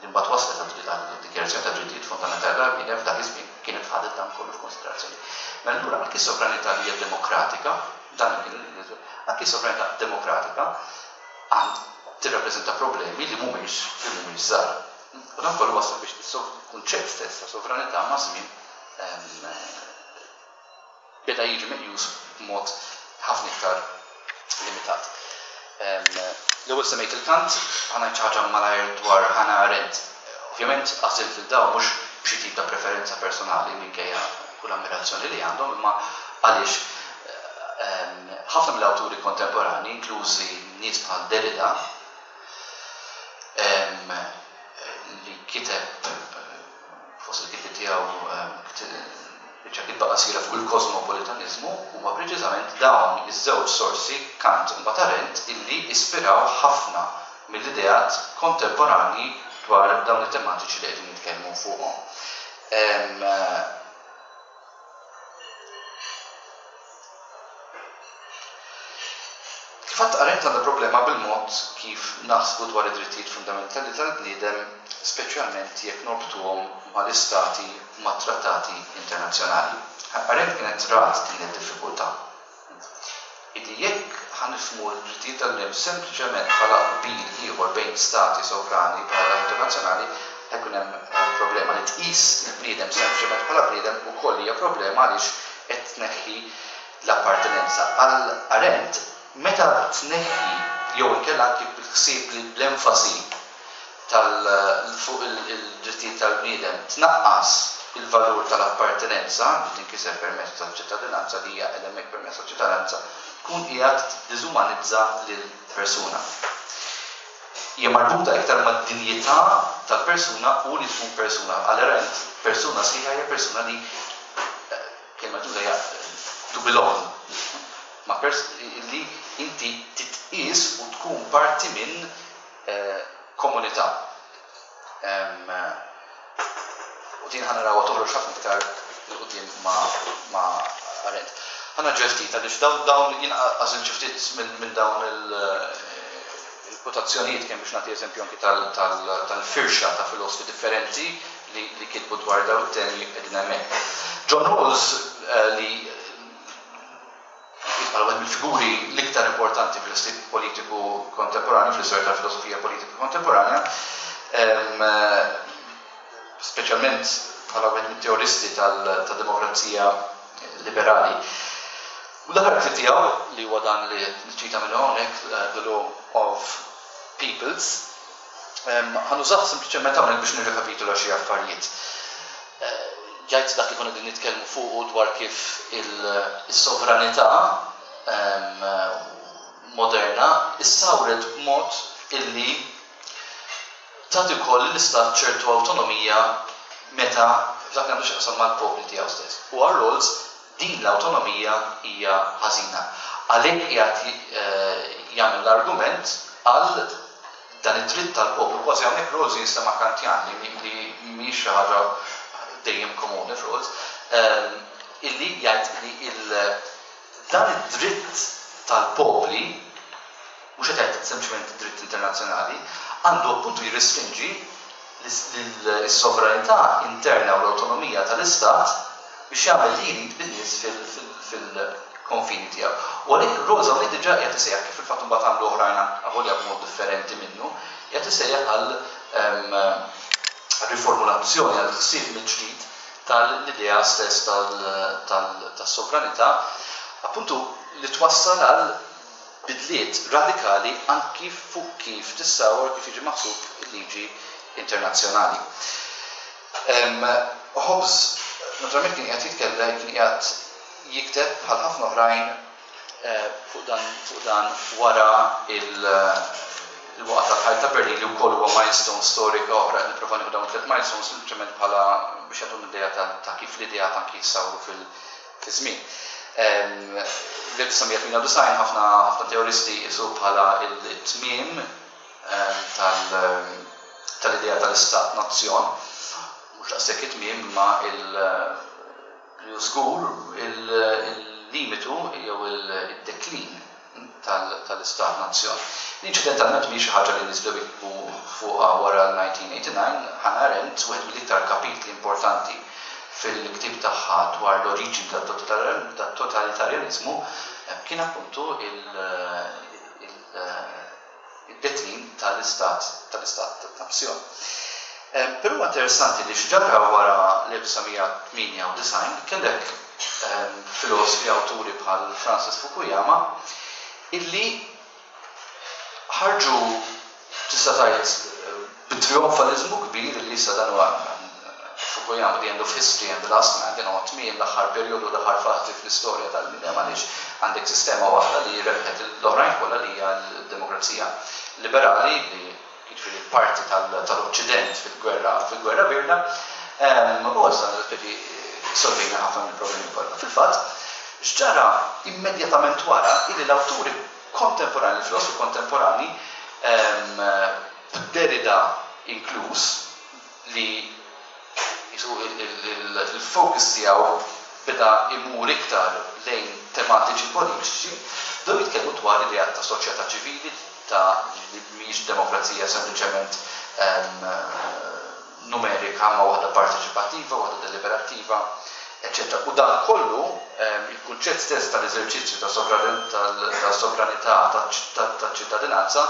li mbagħad waslet għad-dikjarazzjoni ta' drittijiet fundamentali tal-bniedem f'dak iż-żmien kienet ħadet dan kollu f'konsiderazzjoni. Mela allura anki sovranità li hija demokratika, dan kien anki sovranità demokratika għand tirrappreżenta problemi li mhumiex li mhumiex żgħar. U dan kollu wasal biex il-kunċett stess ta' sovranità ma' żmien beda jiġi meqjus b'mod ħafna iktar limitat. L-ewwel semmejt il-Kant, ħa ngħid xi ħaġa malajr dwar Hannah Arendt. Ovvjament għażilt lil dawn mhux b'xi tip ta' preferenza personali minkejja kull ammirazzjoni li għandhom, imma għaliex ħafna mill-awturi kontemporani, inklużi nies bħal Derrida, li kiteb fost il-kitbiet tiegħu biċċa kitba qasira fuq il-kosmopolitanizmu, huma preċiżament dawn iż-żewġ sorsi, Kant u mbagħad Arendt, illi ispiraw ħafna mill-ideat kontemporani dwar dawn it-tematiċi li qegħdin nitkellmu fuqhom. Kif għadt, Arendt għandha problema bil-mod kif naħsbu dwar id-drittijiet fundamentali tal-bniedem, speċjalment jekk norbtuhom mal-istati u mat-trattati internazzjonali. Arendt kienet rat din id-diffikultà. Illi jekk ħanifhmu l-drittijiet tal-bniedem sempliċement bħala qbil ieħor bejn stati sovrani bħala internazzjonali, ħajkun hemm problema. Li tqis il-bniedem sempliċement bħala bniedem ukoll hija problema għaliex qed tneħħi l-appartenenza. Għal Arendt, meta tneħħi jew inkella anki bil-ħsieb li l-enfasi fuq il-drittijiet tal-bniedem tnaqqas il-valur tal-appartenenza li tinkiseb permezz tal-ċittadinanza, li hija hemmhekk permezz tal-ċittadinanza, tkun qiegħed tiddiżumanizza lill-persuna. Hija marbuta iktar mad-dinjità tal-persuna u li tkun persuna. Għal Arendt, persuna sħiħa hija persuna li kelma tuża hija to belong, ma li inti titqies u tkun parti minn komunità. U din ħa narawha toħroġ ħafna iktar 'il quddiem ma' Arendt. Ħa naġġel ftit għaliex dawn dawn jien għażilt xi ftit minn dawn il-kwotazzjonijiet kemm biex nagħti eżempju anki tal-firxa ta' filosofi differenti li kitbu dwar dawn it-temi qegħdin hemmhekk. John Rawls, li bħala wieħed mill-figuri l-iktar importanti fil-istil politiku kontemporanju, fl-istorja tal-filosofija politika kontemporanja, speċjalment bħala wieħed mit-teoristi tad-demokrazija liberali. U l-aħħar ktieb tiegħu, li huwa dan li niċċita minn hawnhekk, The Law of Peoples, ħa nużah sempliċement hawnhekk biex nirrekapitula xi affarijiet. Jgħid dak li konna qegħdin nitkellmu fuqu dwar kif is-sovranità moderna issawret b'mod illi tagħti wkoll lill-istat ċertu awtonomija meta dak li għandu x'jaqsam mal-popli tiegħu stess. U għal Rawls din l-awtonomija hija ħażina. Għalhekk qiegħed jagħmel l-argument għal dan id-dritt tal-poplu. Kważi hawnhekk Rawls jinstema' Kantjan li mhijiex xi ħaġa dejjem komuni f'Rawls, illi jgħid li dan id-dritt tal-popli, mhux qed jgħid sempliċement id-dritt internazzjonali, għandu appuntu jirrestrinġi l-sovranità interna u l-awtonomija tal-istat biex jagħmel li jrid bin-nies fil-konfini tiegħu. U għalhekk Rawls hawnhekk diġà qiegħed isejjaħ, kif fil-fatt imbagħad għamlu oħrajn avolja b'mod differenti minnu, qiegħed isejjaħ għal riformulazzjoni, għal ħsieb mill-ġdid tal-idea stess tas-sovranità, appuntu li twassal għal bidliet radikali anki fuq kif tissawar, kif jiġi maħsub il-liġi internazzjonali. Hobbes naturalment kien qiegħed jitkellem, kien qiegħed jikteb bħal ħafna oħrajn fuq dan, fuq dan wara Il-waqgħa tal-ħajt ta' Berlin, li wkoll huwa milestone storika oħra. Nipprova nieħu dawn tliet milestones sempliċement bħala biex jagħtu idea ta' kif l-idea ta' kif sawru fil-żmien. L-elf disa' mija tmienja u disgħin ħafna ħafna teoristi jqisu bħala il-tmiem tal-idea tal-istat nazzjon, mhux daqshekk it-tmiem, ma il żgur il-limitu jew il-deklin tal-istat nazzjon. Inċidentalment mhix xi ħaġa li nies bdew jiktbu fuqha wara l-elf disa' mija tmienja u disgħin. Hannah Arendt, wieħed mill-iktar kapitli importanti fil-ktib tagħha dwar l-oriġini tat-totalitarjanizmu kien appuntu il-deklin tal-istat tal-istat nazzjon. Però interessanti li x'ġara wara l-elf disa' mija tmienja u disgħin, kellek filosofi, awturi bħal Francis Fukuyama, illi ħarġu, tista' tgħid, bit-trionfalizmu kbir li issa dan huwa Fukuyama, the end of history and the last man, din huwa tmiem l-aħħar perjodu, l-aħħar fażi fl-istorja tal-bniedem, għaliex għandek sistema waħda li rebħet l-oħrajn kollha, li hija l-demokrazija liberali, li jiġifieri parti tal-Occident fil-gwerra fil-gwerra bierda, u issa solvejna ħafna mill-problemi kollha. Fil-fatt, x'ġara immedjatament wara illi l-awturi kontemporani, il-filosofi kontemporani, Derrida inkluż, li il-focus tiegħu beda imur iktar lejn tematiċi politiċi, bdew jitkellmu dwar idea ta' soċjetà ċivili, ta' li mhijiex demokrazija sempliċement numerika, ma waħda parteċipattiva, waħda deliberattiva, eċċetera. U dan kollu, il-kunċett stess tal-eżerċizzju ta' sovranità, ta' ċittadinanza,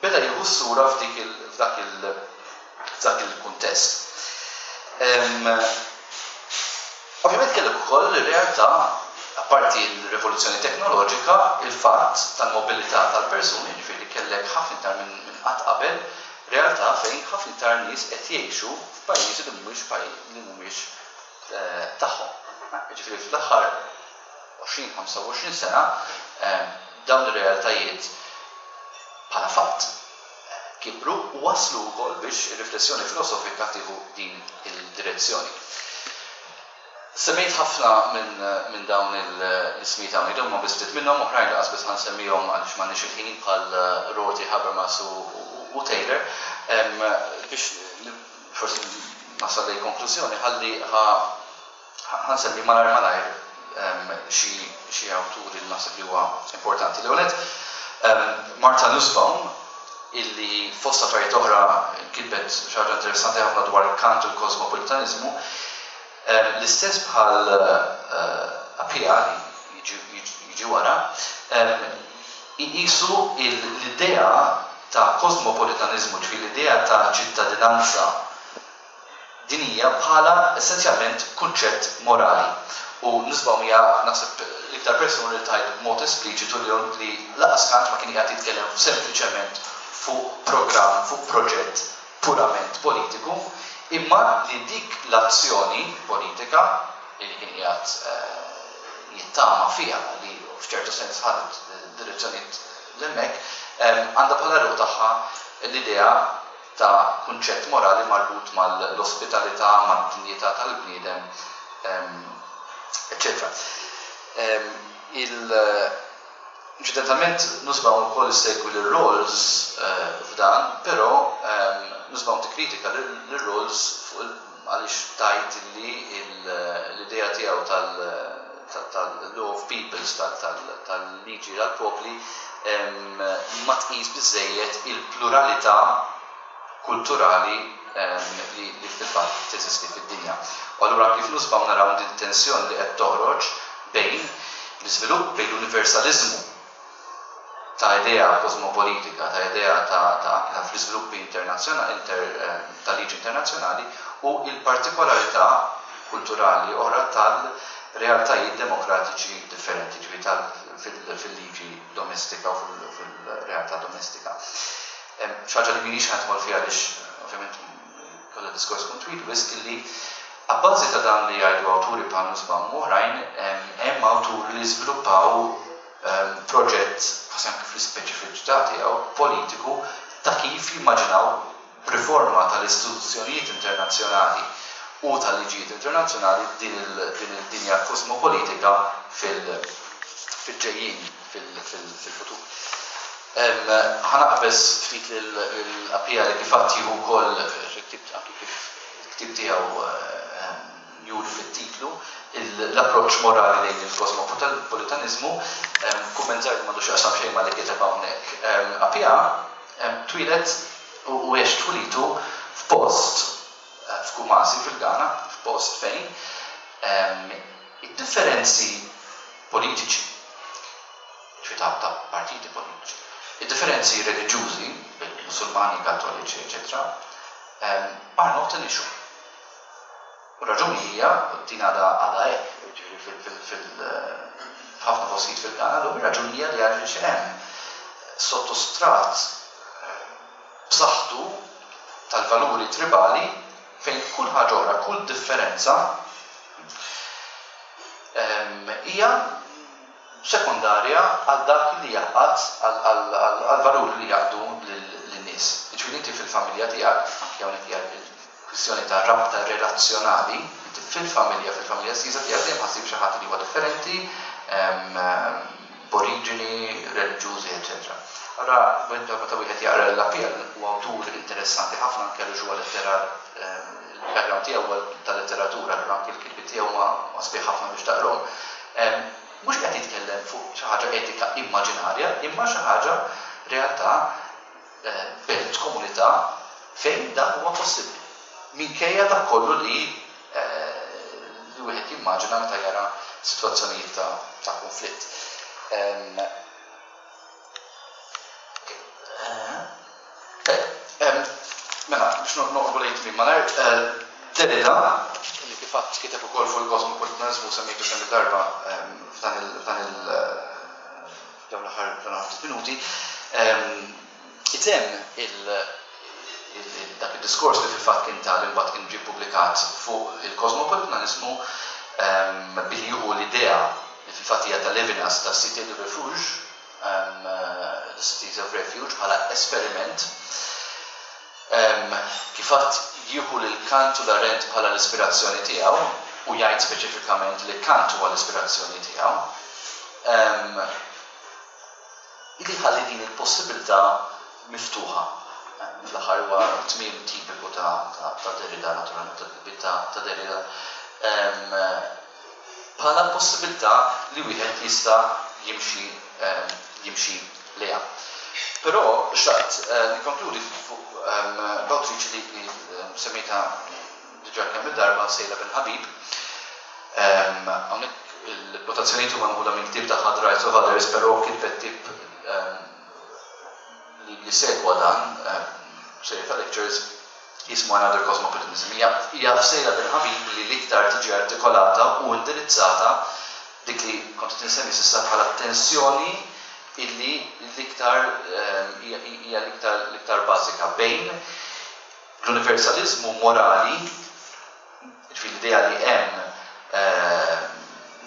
beda jieħu sura f'dak il-kuntest. Ovvjament kellek ukoll ir-realtà, apparti l-rivoluzzjoni teknoloġika, il-fatt tal-mobilità tal-persuni, ġifieri kellek ħafna iktar minn qatt qabel realtà fejn ħafna iktar nies qed jgħixu f'pajjiżi li mhumiex li mhumiex eh, tagħhom. Ġifieri fl-aħħar għoxrin ħamsa u għoxrin sena eh, dawn ir-realtajiet bħala fatt eh, kibru u waslu wkoll biex ir-riflessjoni filosofika tieħu din il-direzzjoni. Semmejt ħafna minn min dawn l-ismijiet hawn, dawn ma biss ftit minnhom, oħrajn li biss ħa nsemmihom għaliex m'għandniex il-ħin, bħal Rorty, Habermas u, u Taylor, biex forsi nasal lejn konklużjoni, ħalli ħa nsemmi malajr malajr xi awturi li naħseb li huwa importanti. L-ewwel, Martha Nussbaum, illi fost affarijiet oħra kitbet xi ħaġa interessanti ħafna dwar Kant u l-kosmopolitanizmu, l-istess bħal eh, Appiah jiġi wara, jqisu l-idea ta' kosmopolitanizmu, ġifieri l-idea ta' ċittadinanza dinija, bħala essenzjalment kunċett morali. U Nussbaum hija, naħseb, l-iktar persuna li tgħid b'mod espliċitu li li lanqas Kant ma kien qiegħed jitkellem sempliċement fuq programm, fuq proġett purament politiku, imma li dik l-azzjoni politika li kien qiegħed eh, jittama fiha, li f'ċertu sens ħadet direzzjonijiet l-hemmhekk, għandha bħala ruħ tagħha l-idea ta' kunċett morali marbut mal-ospitalità, mad-dinjità tal-bniedem, eċċetera. Il Inċidentalment Nussbaum ukoll issegwi lil Rawls eh, f'dan, però Nussbaum tikkritika lil Rawls għaliex tgħid li l-idea tiegħu tal-law of peoples, tal-liġi tal-popli, ma tqis biżejjed il-pluralità kulturali li fil-fatt teżisti fid-dinja. U allura kif Nussbaum naraw din tensjoni li qed toħroġ bejn l-iżvilupp, bejn l-universalizmu ta' idea kosmopolitika, ta' idea ta' ta' fl-iżviluppi internazzjonali, inter, ta' liġi internazzjonali, u il-partikolarità kulturali oħra tal-realtajiet demokratiċi differenti, ġifieri fil-liġi domestika u fil-realtà domestika. Xi ħaġa li m'iniex ħa nidħol fiha għaliex ovvjament kollha diskors kun twil wisq, illi abbażi ta' dan li jgħidu awturi bħal Nussbaum u oħrajn, hemm awturi li żviluppaw proġett, kważi anke fl-ispeċifiċità tiegħu politiku, ta' kif jimmaġinaw riforma tal-istituzzjonijiet internazzjonali u tal-liġijiet internazzjonali din il-dinja kosmopolitika fil-ġejjin, fil-futur. Ħa naqbeż ftit l-Appiah li kif għedt jieħu wkoll anki kif il-ktieb tiegħu juri fit-titlu, l-approċċ morali lejn il-kosmopolitanizmu, kumment żgħir li m'għandu x'jaqsam xejn ma li kiteb hawnhekk. Appiah twieled u għex tfulitu f'post f'Kumasi fil-Ghana, f'post fejn id-differenzi politiċi, ġifieri ta' partiti politiċi, id-differenzi reliġjużi, Musulmani, Kattoliċi, eċetera, are not an issue. U raġuni hija, din għadha għadha hekk, ġifieri fil-ħafna postijiet fil-Ghana, l raġuni hija li għaliex hemm sottostrat b'saħħtu tal-valuri tribali fejn kull ħaġa oħra, kull differenza hija sekundarja għal dak li jaqgħad, għal valuri li jgħaqqdu lin-nies. Ġifieri inti fil-familja tiegħek, anke hawnhekk hija kwistjoni ta' rabta relazzjonali, inti fil-familja, fil-familja stessa tiegħek dejjem ħa ssib xi ħadd li huwa differenti, b'oriġini reliġjużi, eċetera. Allora, meta wieħed jaqra l-Appiah, huwa awtur interessanti ħafna anke għaliex huwa letterar, il-background tiegħu huwa tal-letteratura, allura anke l-kitbiet tiegħu ma sbieħ ħafna biex taqrahom. Mhux qed jitkellem fuq xi ħaġa etika immaġinarja, imma xi ħaġa realtà, belt, komunità fejn dan huwa possibbli. Minkejja dak kollu li li wieħed jimmaġina meta jara sitwazzjonijiet ta', ta konflitt. Em, eh, em, Mela, biex noqorbu lejn tmiem malajr, eh, Derrida, li kif għedt kiteb ukoll fuq il-kosmopolitanizmu, semmejtu kemm il-darba em, f'dan il- f'dan il- dawn l-aħħar dawn l-aħħar ftit minuti, em, itemm il- il- dak il-diskors li fil-fatt kien tal imbagħad kien ġie ppubblikat fuq il-kosmopolitanizmu em, billi jieħu l-idea li fil-fatt hija ta' Levinas ta' Cité de Refuge, um, uh, the Cities of Refuge, bħala esperiment. Um, kif għedt, jieħu lil Kant u l-Arendt bħala l-ispirazzjoni tiegħu u jgħid speċifikament li Kant huwa l-ispirazzjoni tiegħu. Um, illi ħalli din il-possibilità miftuħa. Fl-aħħar huwa tmiem tipiku ta' ta' ta' Derrida, naturalment, ta' ta' ta' Derrida. Em, bħala possibilità li wieħed jista' jimxi em, jimxi lejha. Però xtaqt eh, nikkonkludi fuq em, b'awtriċi li li em, semmejta diġà kemm il-darba, Seyla Benhabib. Em, Hawnhekk il-kwotazzjonijiet huma meħuda minn ktieb tagħha The Rights of Others, però kitbet ktieb em, li li segwa dan, em, serje ta' lectures jismu Another Cosmopolitanism. Hija hija f'Seyla Benhabib li l-iktar tiġi artikolata u indirizzata dik li kont qed insemmi s'issa bħala tensjoni illi l-iktar em, hija hija l-iktar l-iktar bażika bejn l-universalizmu morali, ġifieri l-idea li hemm eh,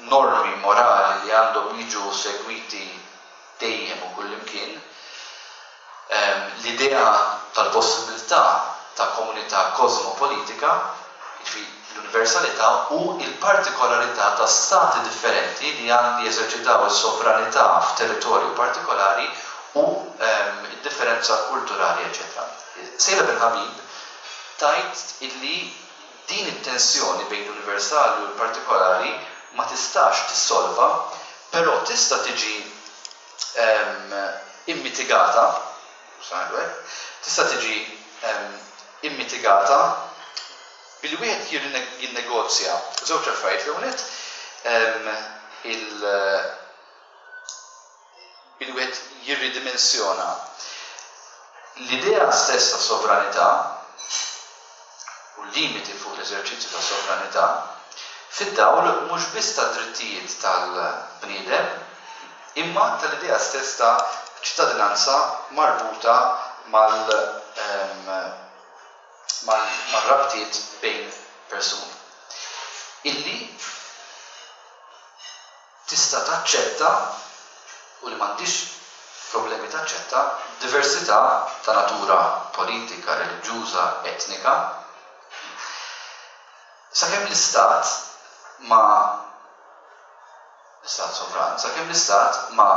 normi morali li għandhom jiġu segwiti dejjem u kullimkien, em, l-idea tal-possibilità ta' komunità kosmopolitika, ġifieri l-universalità u il-partikolarità ta' stati differenti li għandi jeżerċitaw is-sovranità f'territorju partikolari u ehm, id-differenza kulturali, eċetera. Seyla Benhabib tgħid illi din it-tensjoni bejn l-universali u l-partikolari ma tistax tissolva, però tista' tiġi ehm, immitigata, ngħidu hekk, tista' tiġi ehm, immitigata billi wieħed jinnegozja żewġ affarijiet. L-ewwel ehm, il billi wieħed jirridimensjona l-idea stess ta' sovranità u limiti fuq l-eżerċizzju ta' sovranità fid-dawl mhux biss ta' drittijiet tal-bniedem imma tal-idea stess ta' ċittadinanza marbuta mal ehm, mal-rabtiet bejn persuni. Illi tista' taċċetta u li m'għandix problemi taċċetta diversità ta' natura politika, reliġjuża, etnika, sakemm l-istat ma l-istat sovran, sakemm l-istat ma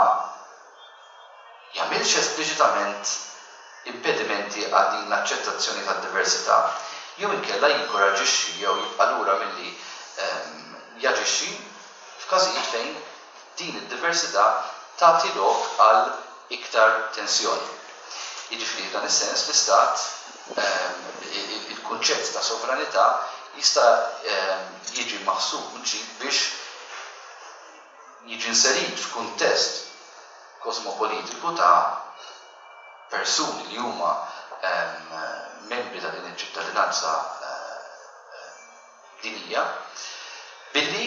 jagħmilx espliċitament impedimenti għal din l-aċċettazzjoni tad-diversità, jew inkella jinkoraġixxi jew jibqa' lura milli jaġixxi f'każijiet fejn din id-diversità tagħti lok għal iktar tensjoni. Jiġifieri, f'dan is-sens, l-istat, il-kunċett ta' sovranità jista' jiġi maħsub mill-ġdid biex jiġi inserit f'kuntest kosmopolitiku ta' persuni li huma membri ta' din iċ-ċittadinanza dinjija, billi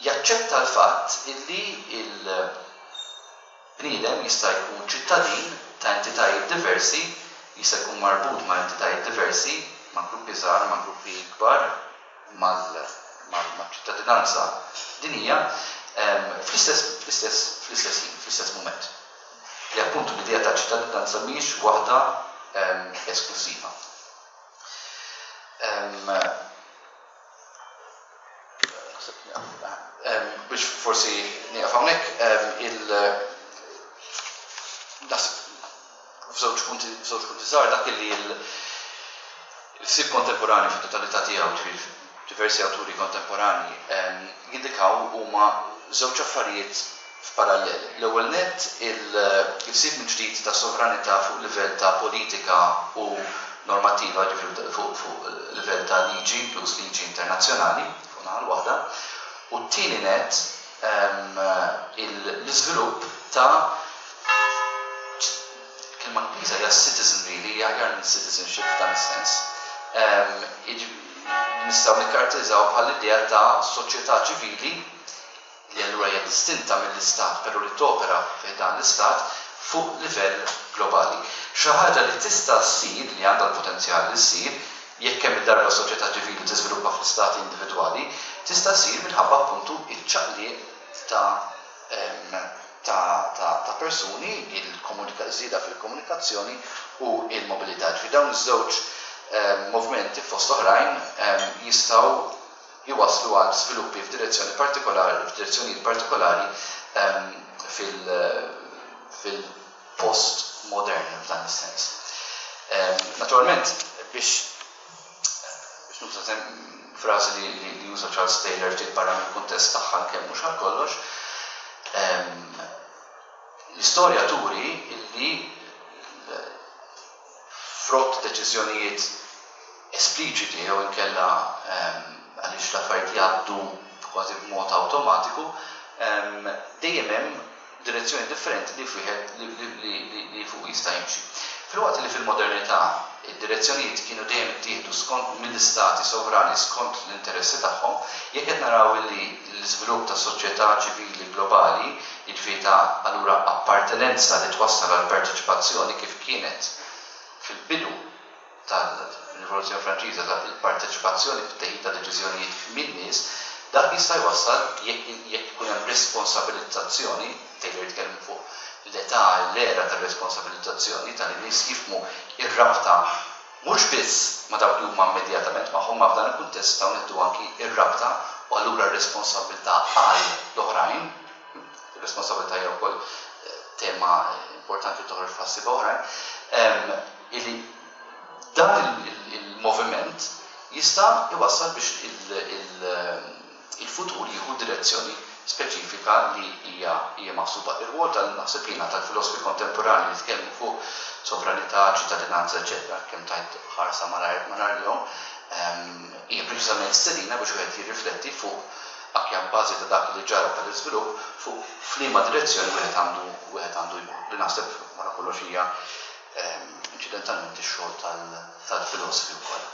jaċċetta l-fatt illi il-bniedem jista' jkun ċittadin ta' entitajiet diversi, jista' jkun marbut ma' entitajiet diversi, ma' gruppi żgħar, ma' gruppi kbar, mal-ċittadinanza dinjija, fl-istess fl-istess fl-istess ħin, fl-istess mument. Li appuntu l-idea ta' ċittadinanza mhijiex waħda esklusiva. Biex forsi nieqaf hawnhekk, il naħseb f'żewġ punti f'żewġ punti żgħar dak li l-ħsieb kontemporanju fit-totalità tiegħu, ġifieri diversi awturi kontemporanji, jindikaw huma żewġ affarijiet f'parallel. L-ewwel nett, il-ħsieb mill-ġdid ta' sovranità fuq livell ta' politika u normattiva, ġifieri fuq fuq livell ta' liġi, inkluż liġi internazzjonali, fuq naħa l-waħda, u t-tieni nett, l-iżvilupp ta' kelma Ingliża hija citizenry, li hija aħjar minn citizenship f'dan is-sens. Nistgħu nikkaratterizzaw bħal idea ta' soċjetà ċivili li allura hija distinta mill-istat, però li topera fi dan l-istat fuq livell globali. Xi ħaġa li tista' ssir, li għandha l-potenzjal li ssir, jekk kemm il-darba soċjetà ċivili tiżviluppa fl-istati individwali, tista' ssir minħabba appuntu iċ-ċaqliq ta' ta' ta' ta' persuni, il-komunika żieda fil-komunikazzjoni u il-mobilità. Ġifieri dawn iż-żewġ movimenti fost oħrajn jistgħu jwaslu għal sviluppi f'direzzjoni partikolari, f'direzzjonijiet partikolari fil-post-modern f'dan is-sens. Naturalment, biex biex nuża frażi li, li, li juża Charles Taylor ftit barra mill-kuntest tagħha, kemm mhux għal kollox, l-istorja turi illi frott deċiżjonijiet espliċiti jew inkella għaliex l-affarijiet jgħaddu kważi b'mod awtomatiku, dejjem hemm direzzjoni differenti li wieħed li, li, li, li fuq jista' jimxi. Filwaqt li fil-modernità id-direzzjonijiet kienu dejjem ittieħdu skont mill-istati sovrani skont l-interessi tagħhom, jekk qed naraw li l-iżvilupp ta' soċjetà ċivili globali, jiġifieri ta' allura appartenenza li twassal għal parteċipazzjoni kif kienet fil-bidu tal-Rivoluzzjoni Franċiża, ta' il-parteċipazzjoni fit-teħid ta' deċiżjonijiet min-nies, dak jista' jwassal jekk jekk ikun hemm responsabilizzazzjoni. Taylor jitkellem fuq l-età, l-era tar-responsabilizzazzjoni, tal-nies jifhmu ir-rabta mhux biss ma' dawk li huma immedjatament magħhom, ma f'dan il-kuntest nistgħu nieħdu anki ir-rabta u allura r-responsabilità għal l-oħrajn. Ir-responsabilità hija wkoll tema importanti toħroġ f'ħassiba oħrajn, illi dan il-moviment jista' iwassal biex il-futur jieħu direzzjoni speċifika li hija hija maħsuba. Ir-rwol tal-naħseb jiena tal-filosofi kontemporani li tkellmu fuq sovranità, ċittadinanza, eċetera, kemm tajt ħarsa malajr lejhom, hija preċiżament stedina biex wieħed jirrifletti fuq anke bażi ta' dak li ġara tal-iżvilupp, fuq f'liema direzzjoni wieħed għandu wieħed għandu jmur. Li naħseb wara kollox hija inċidentalment ix-xogħol tal-filosofi wkoll.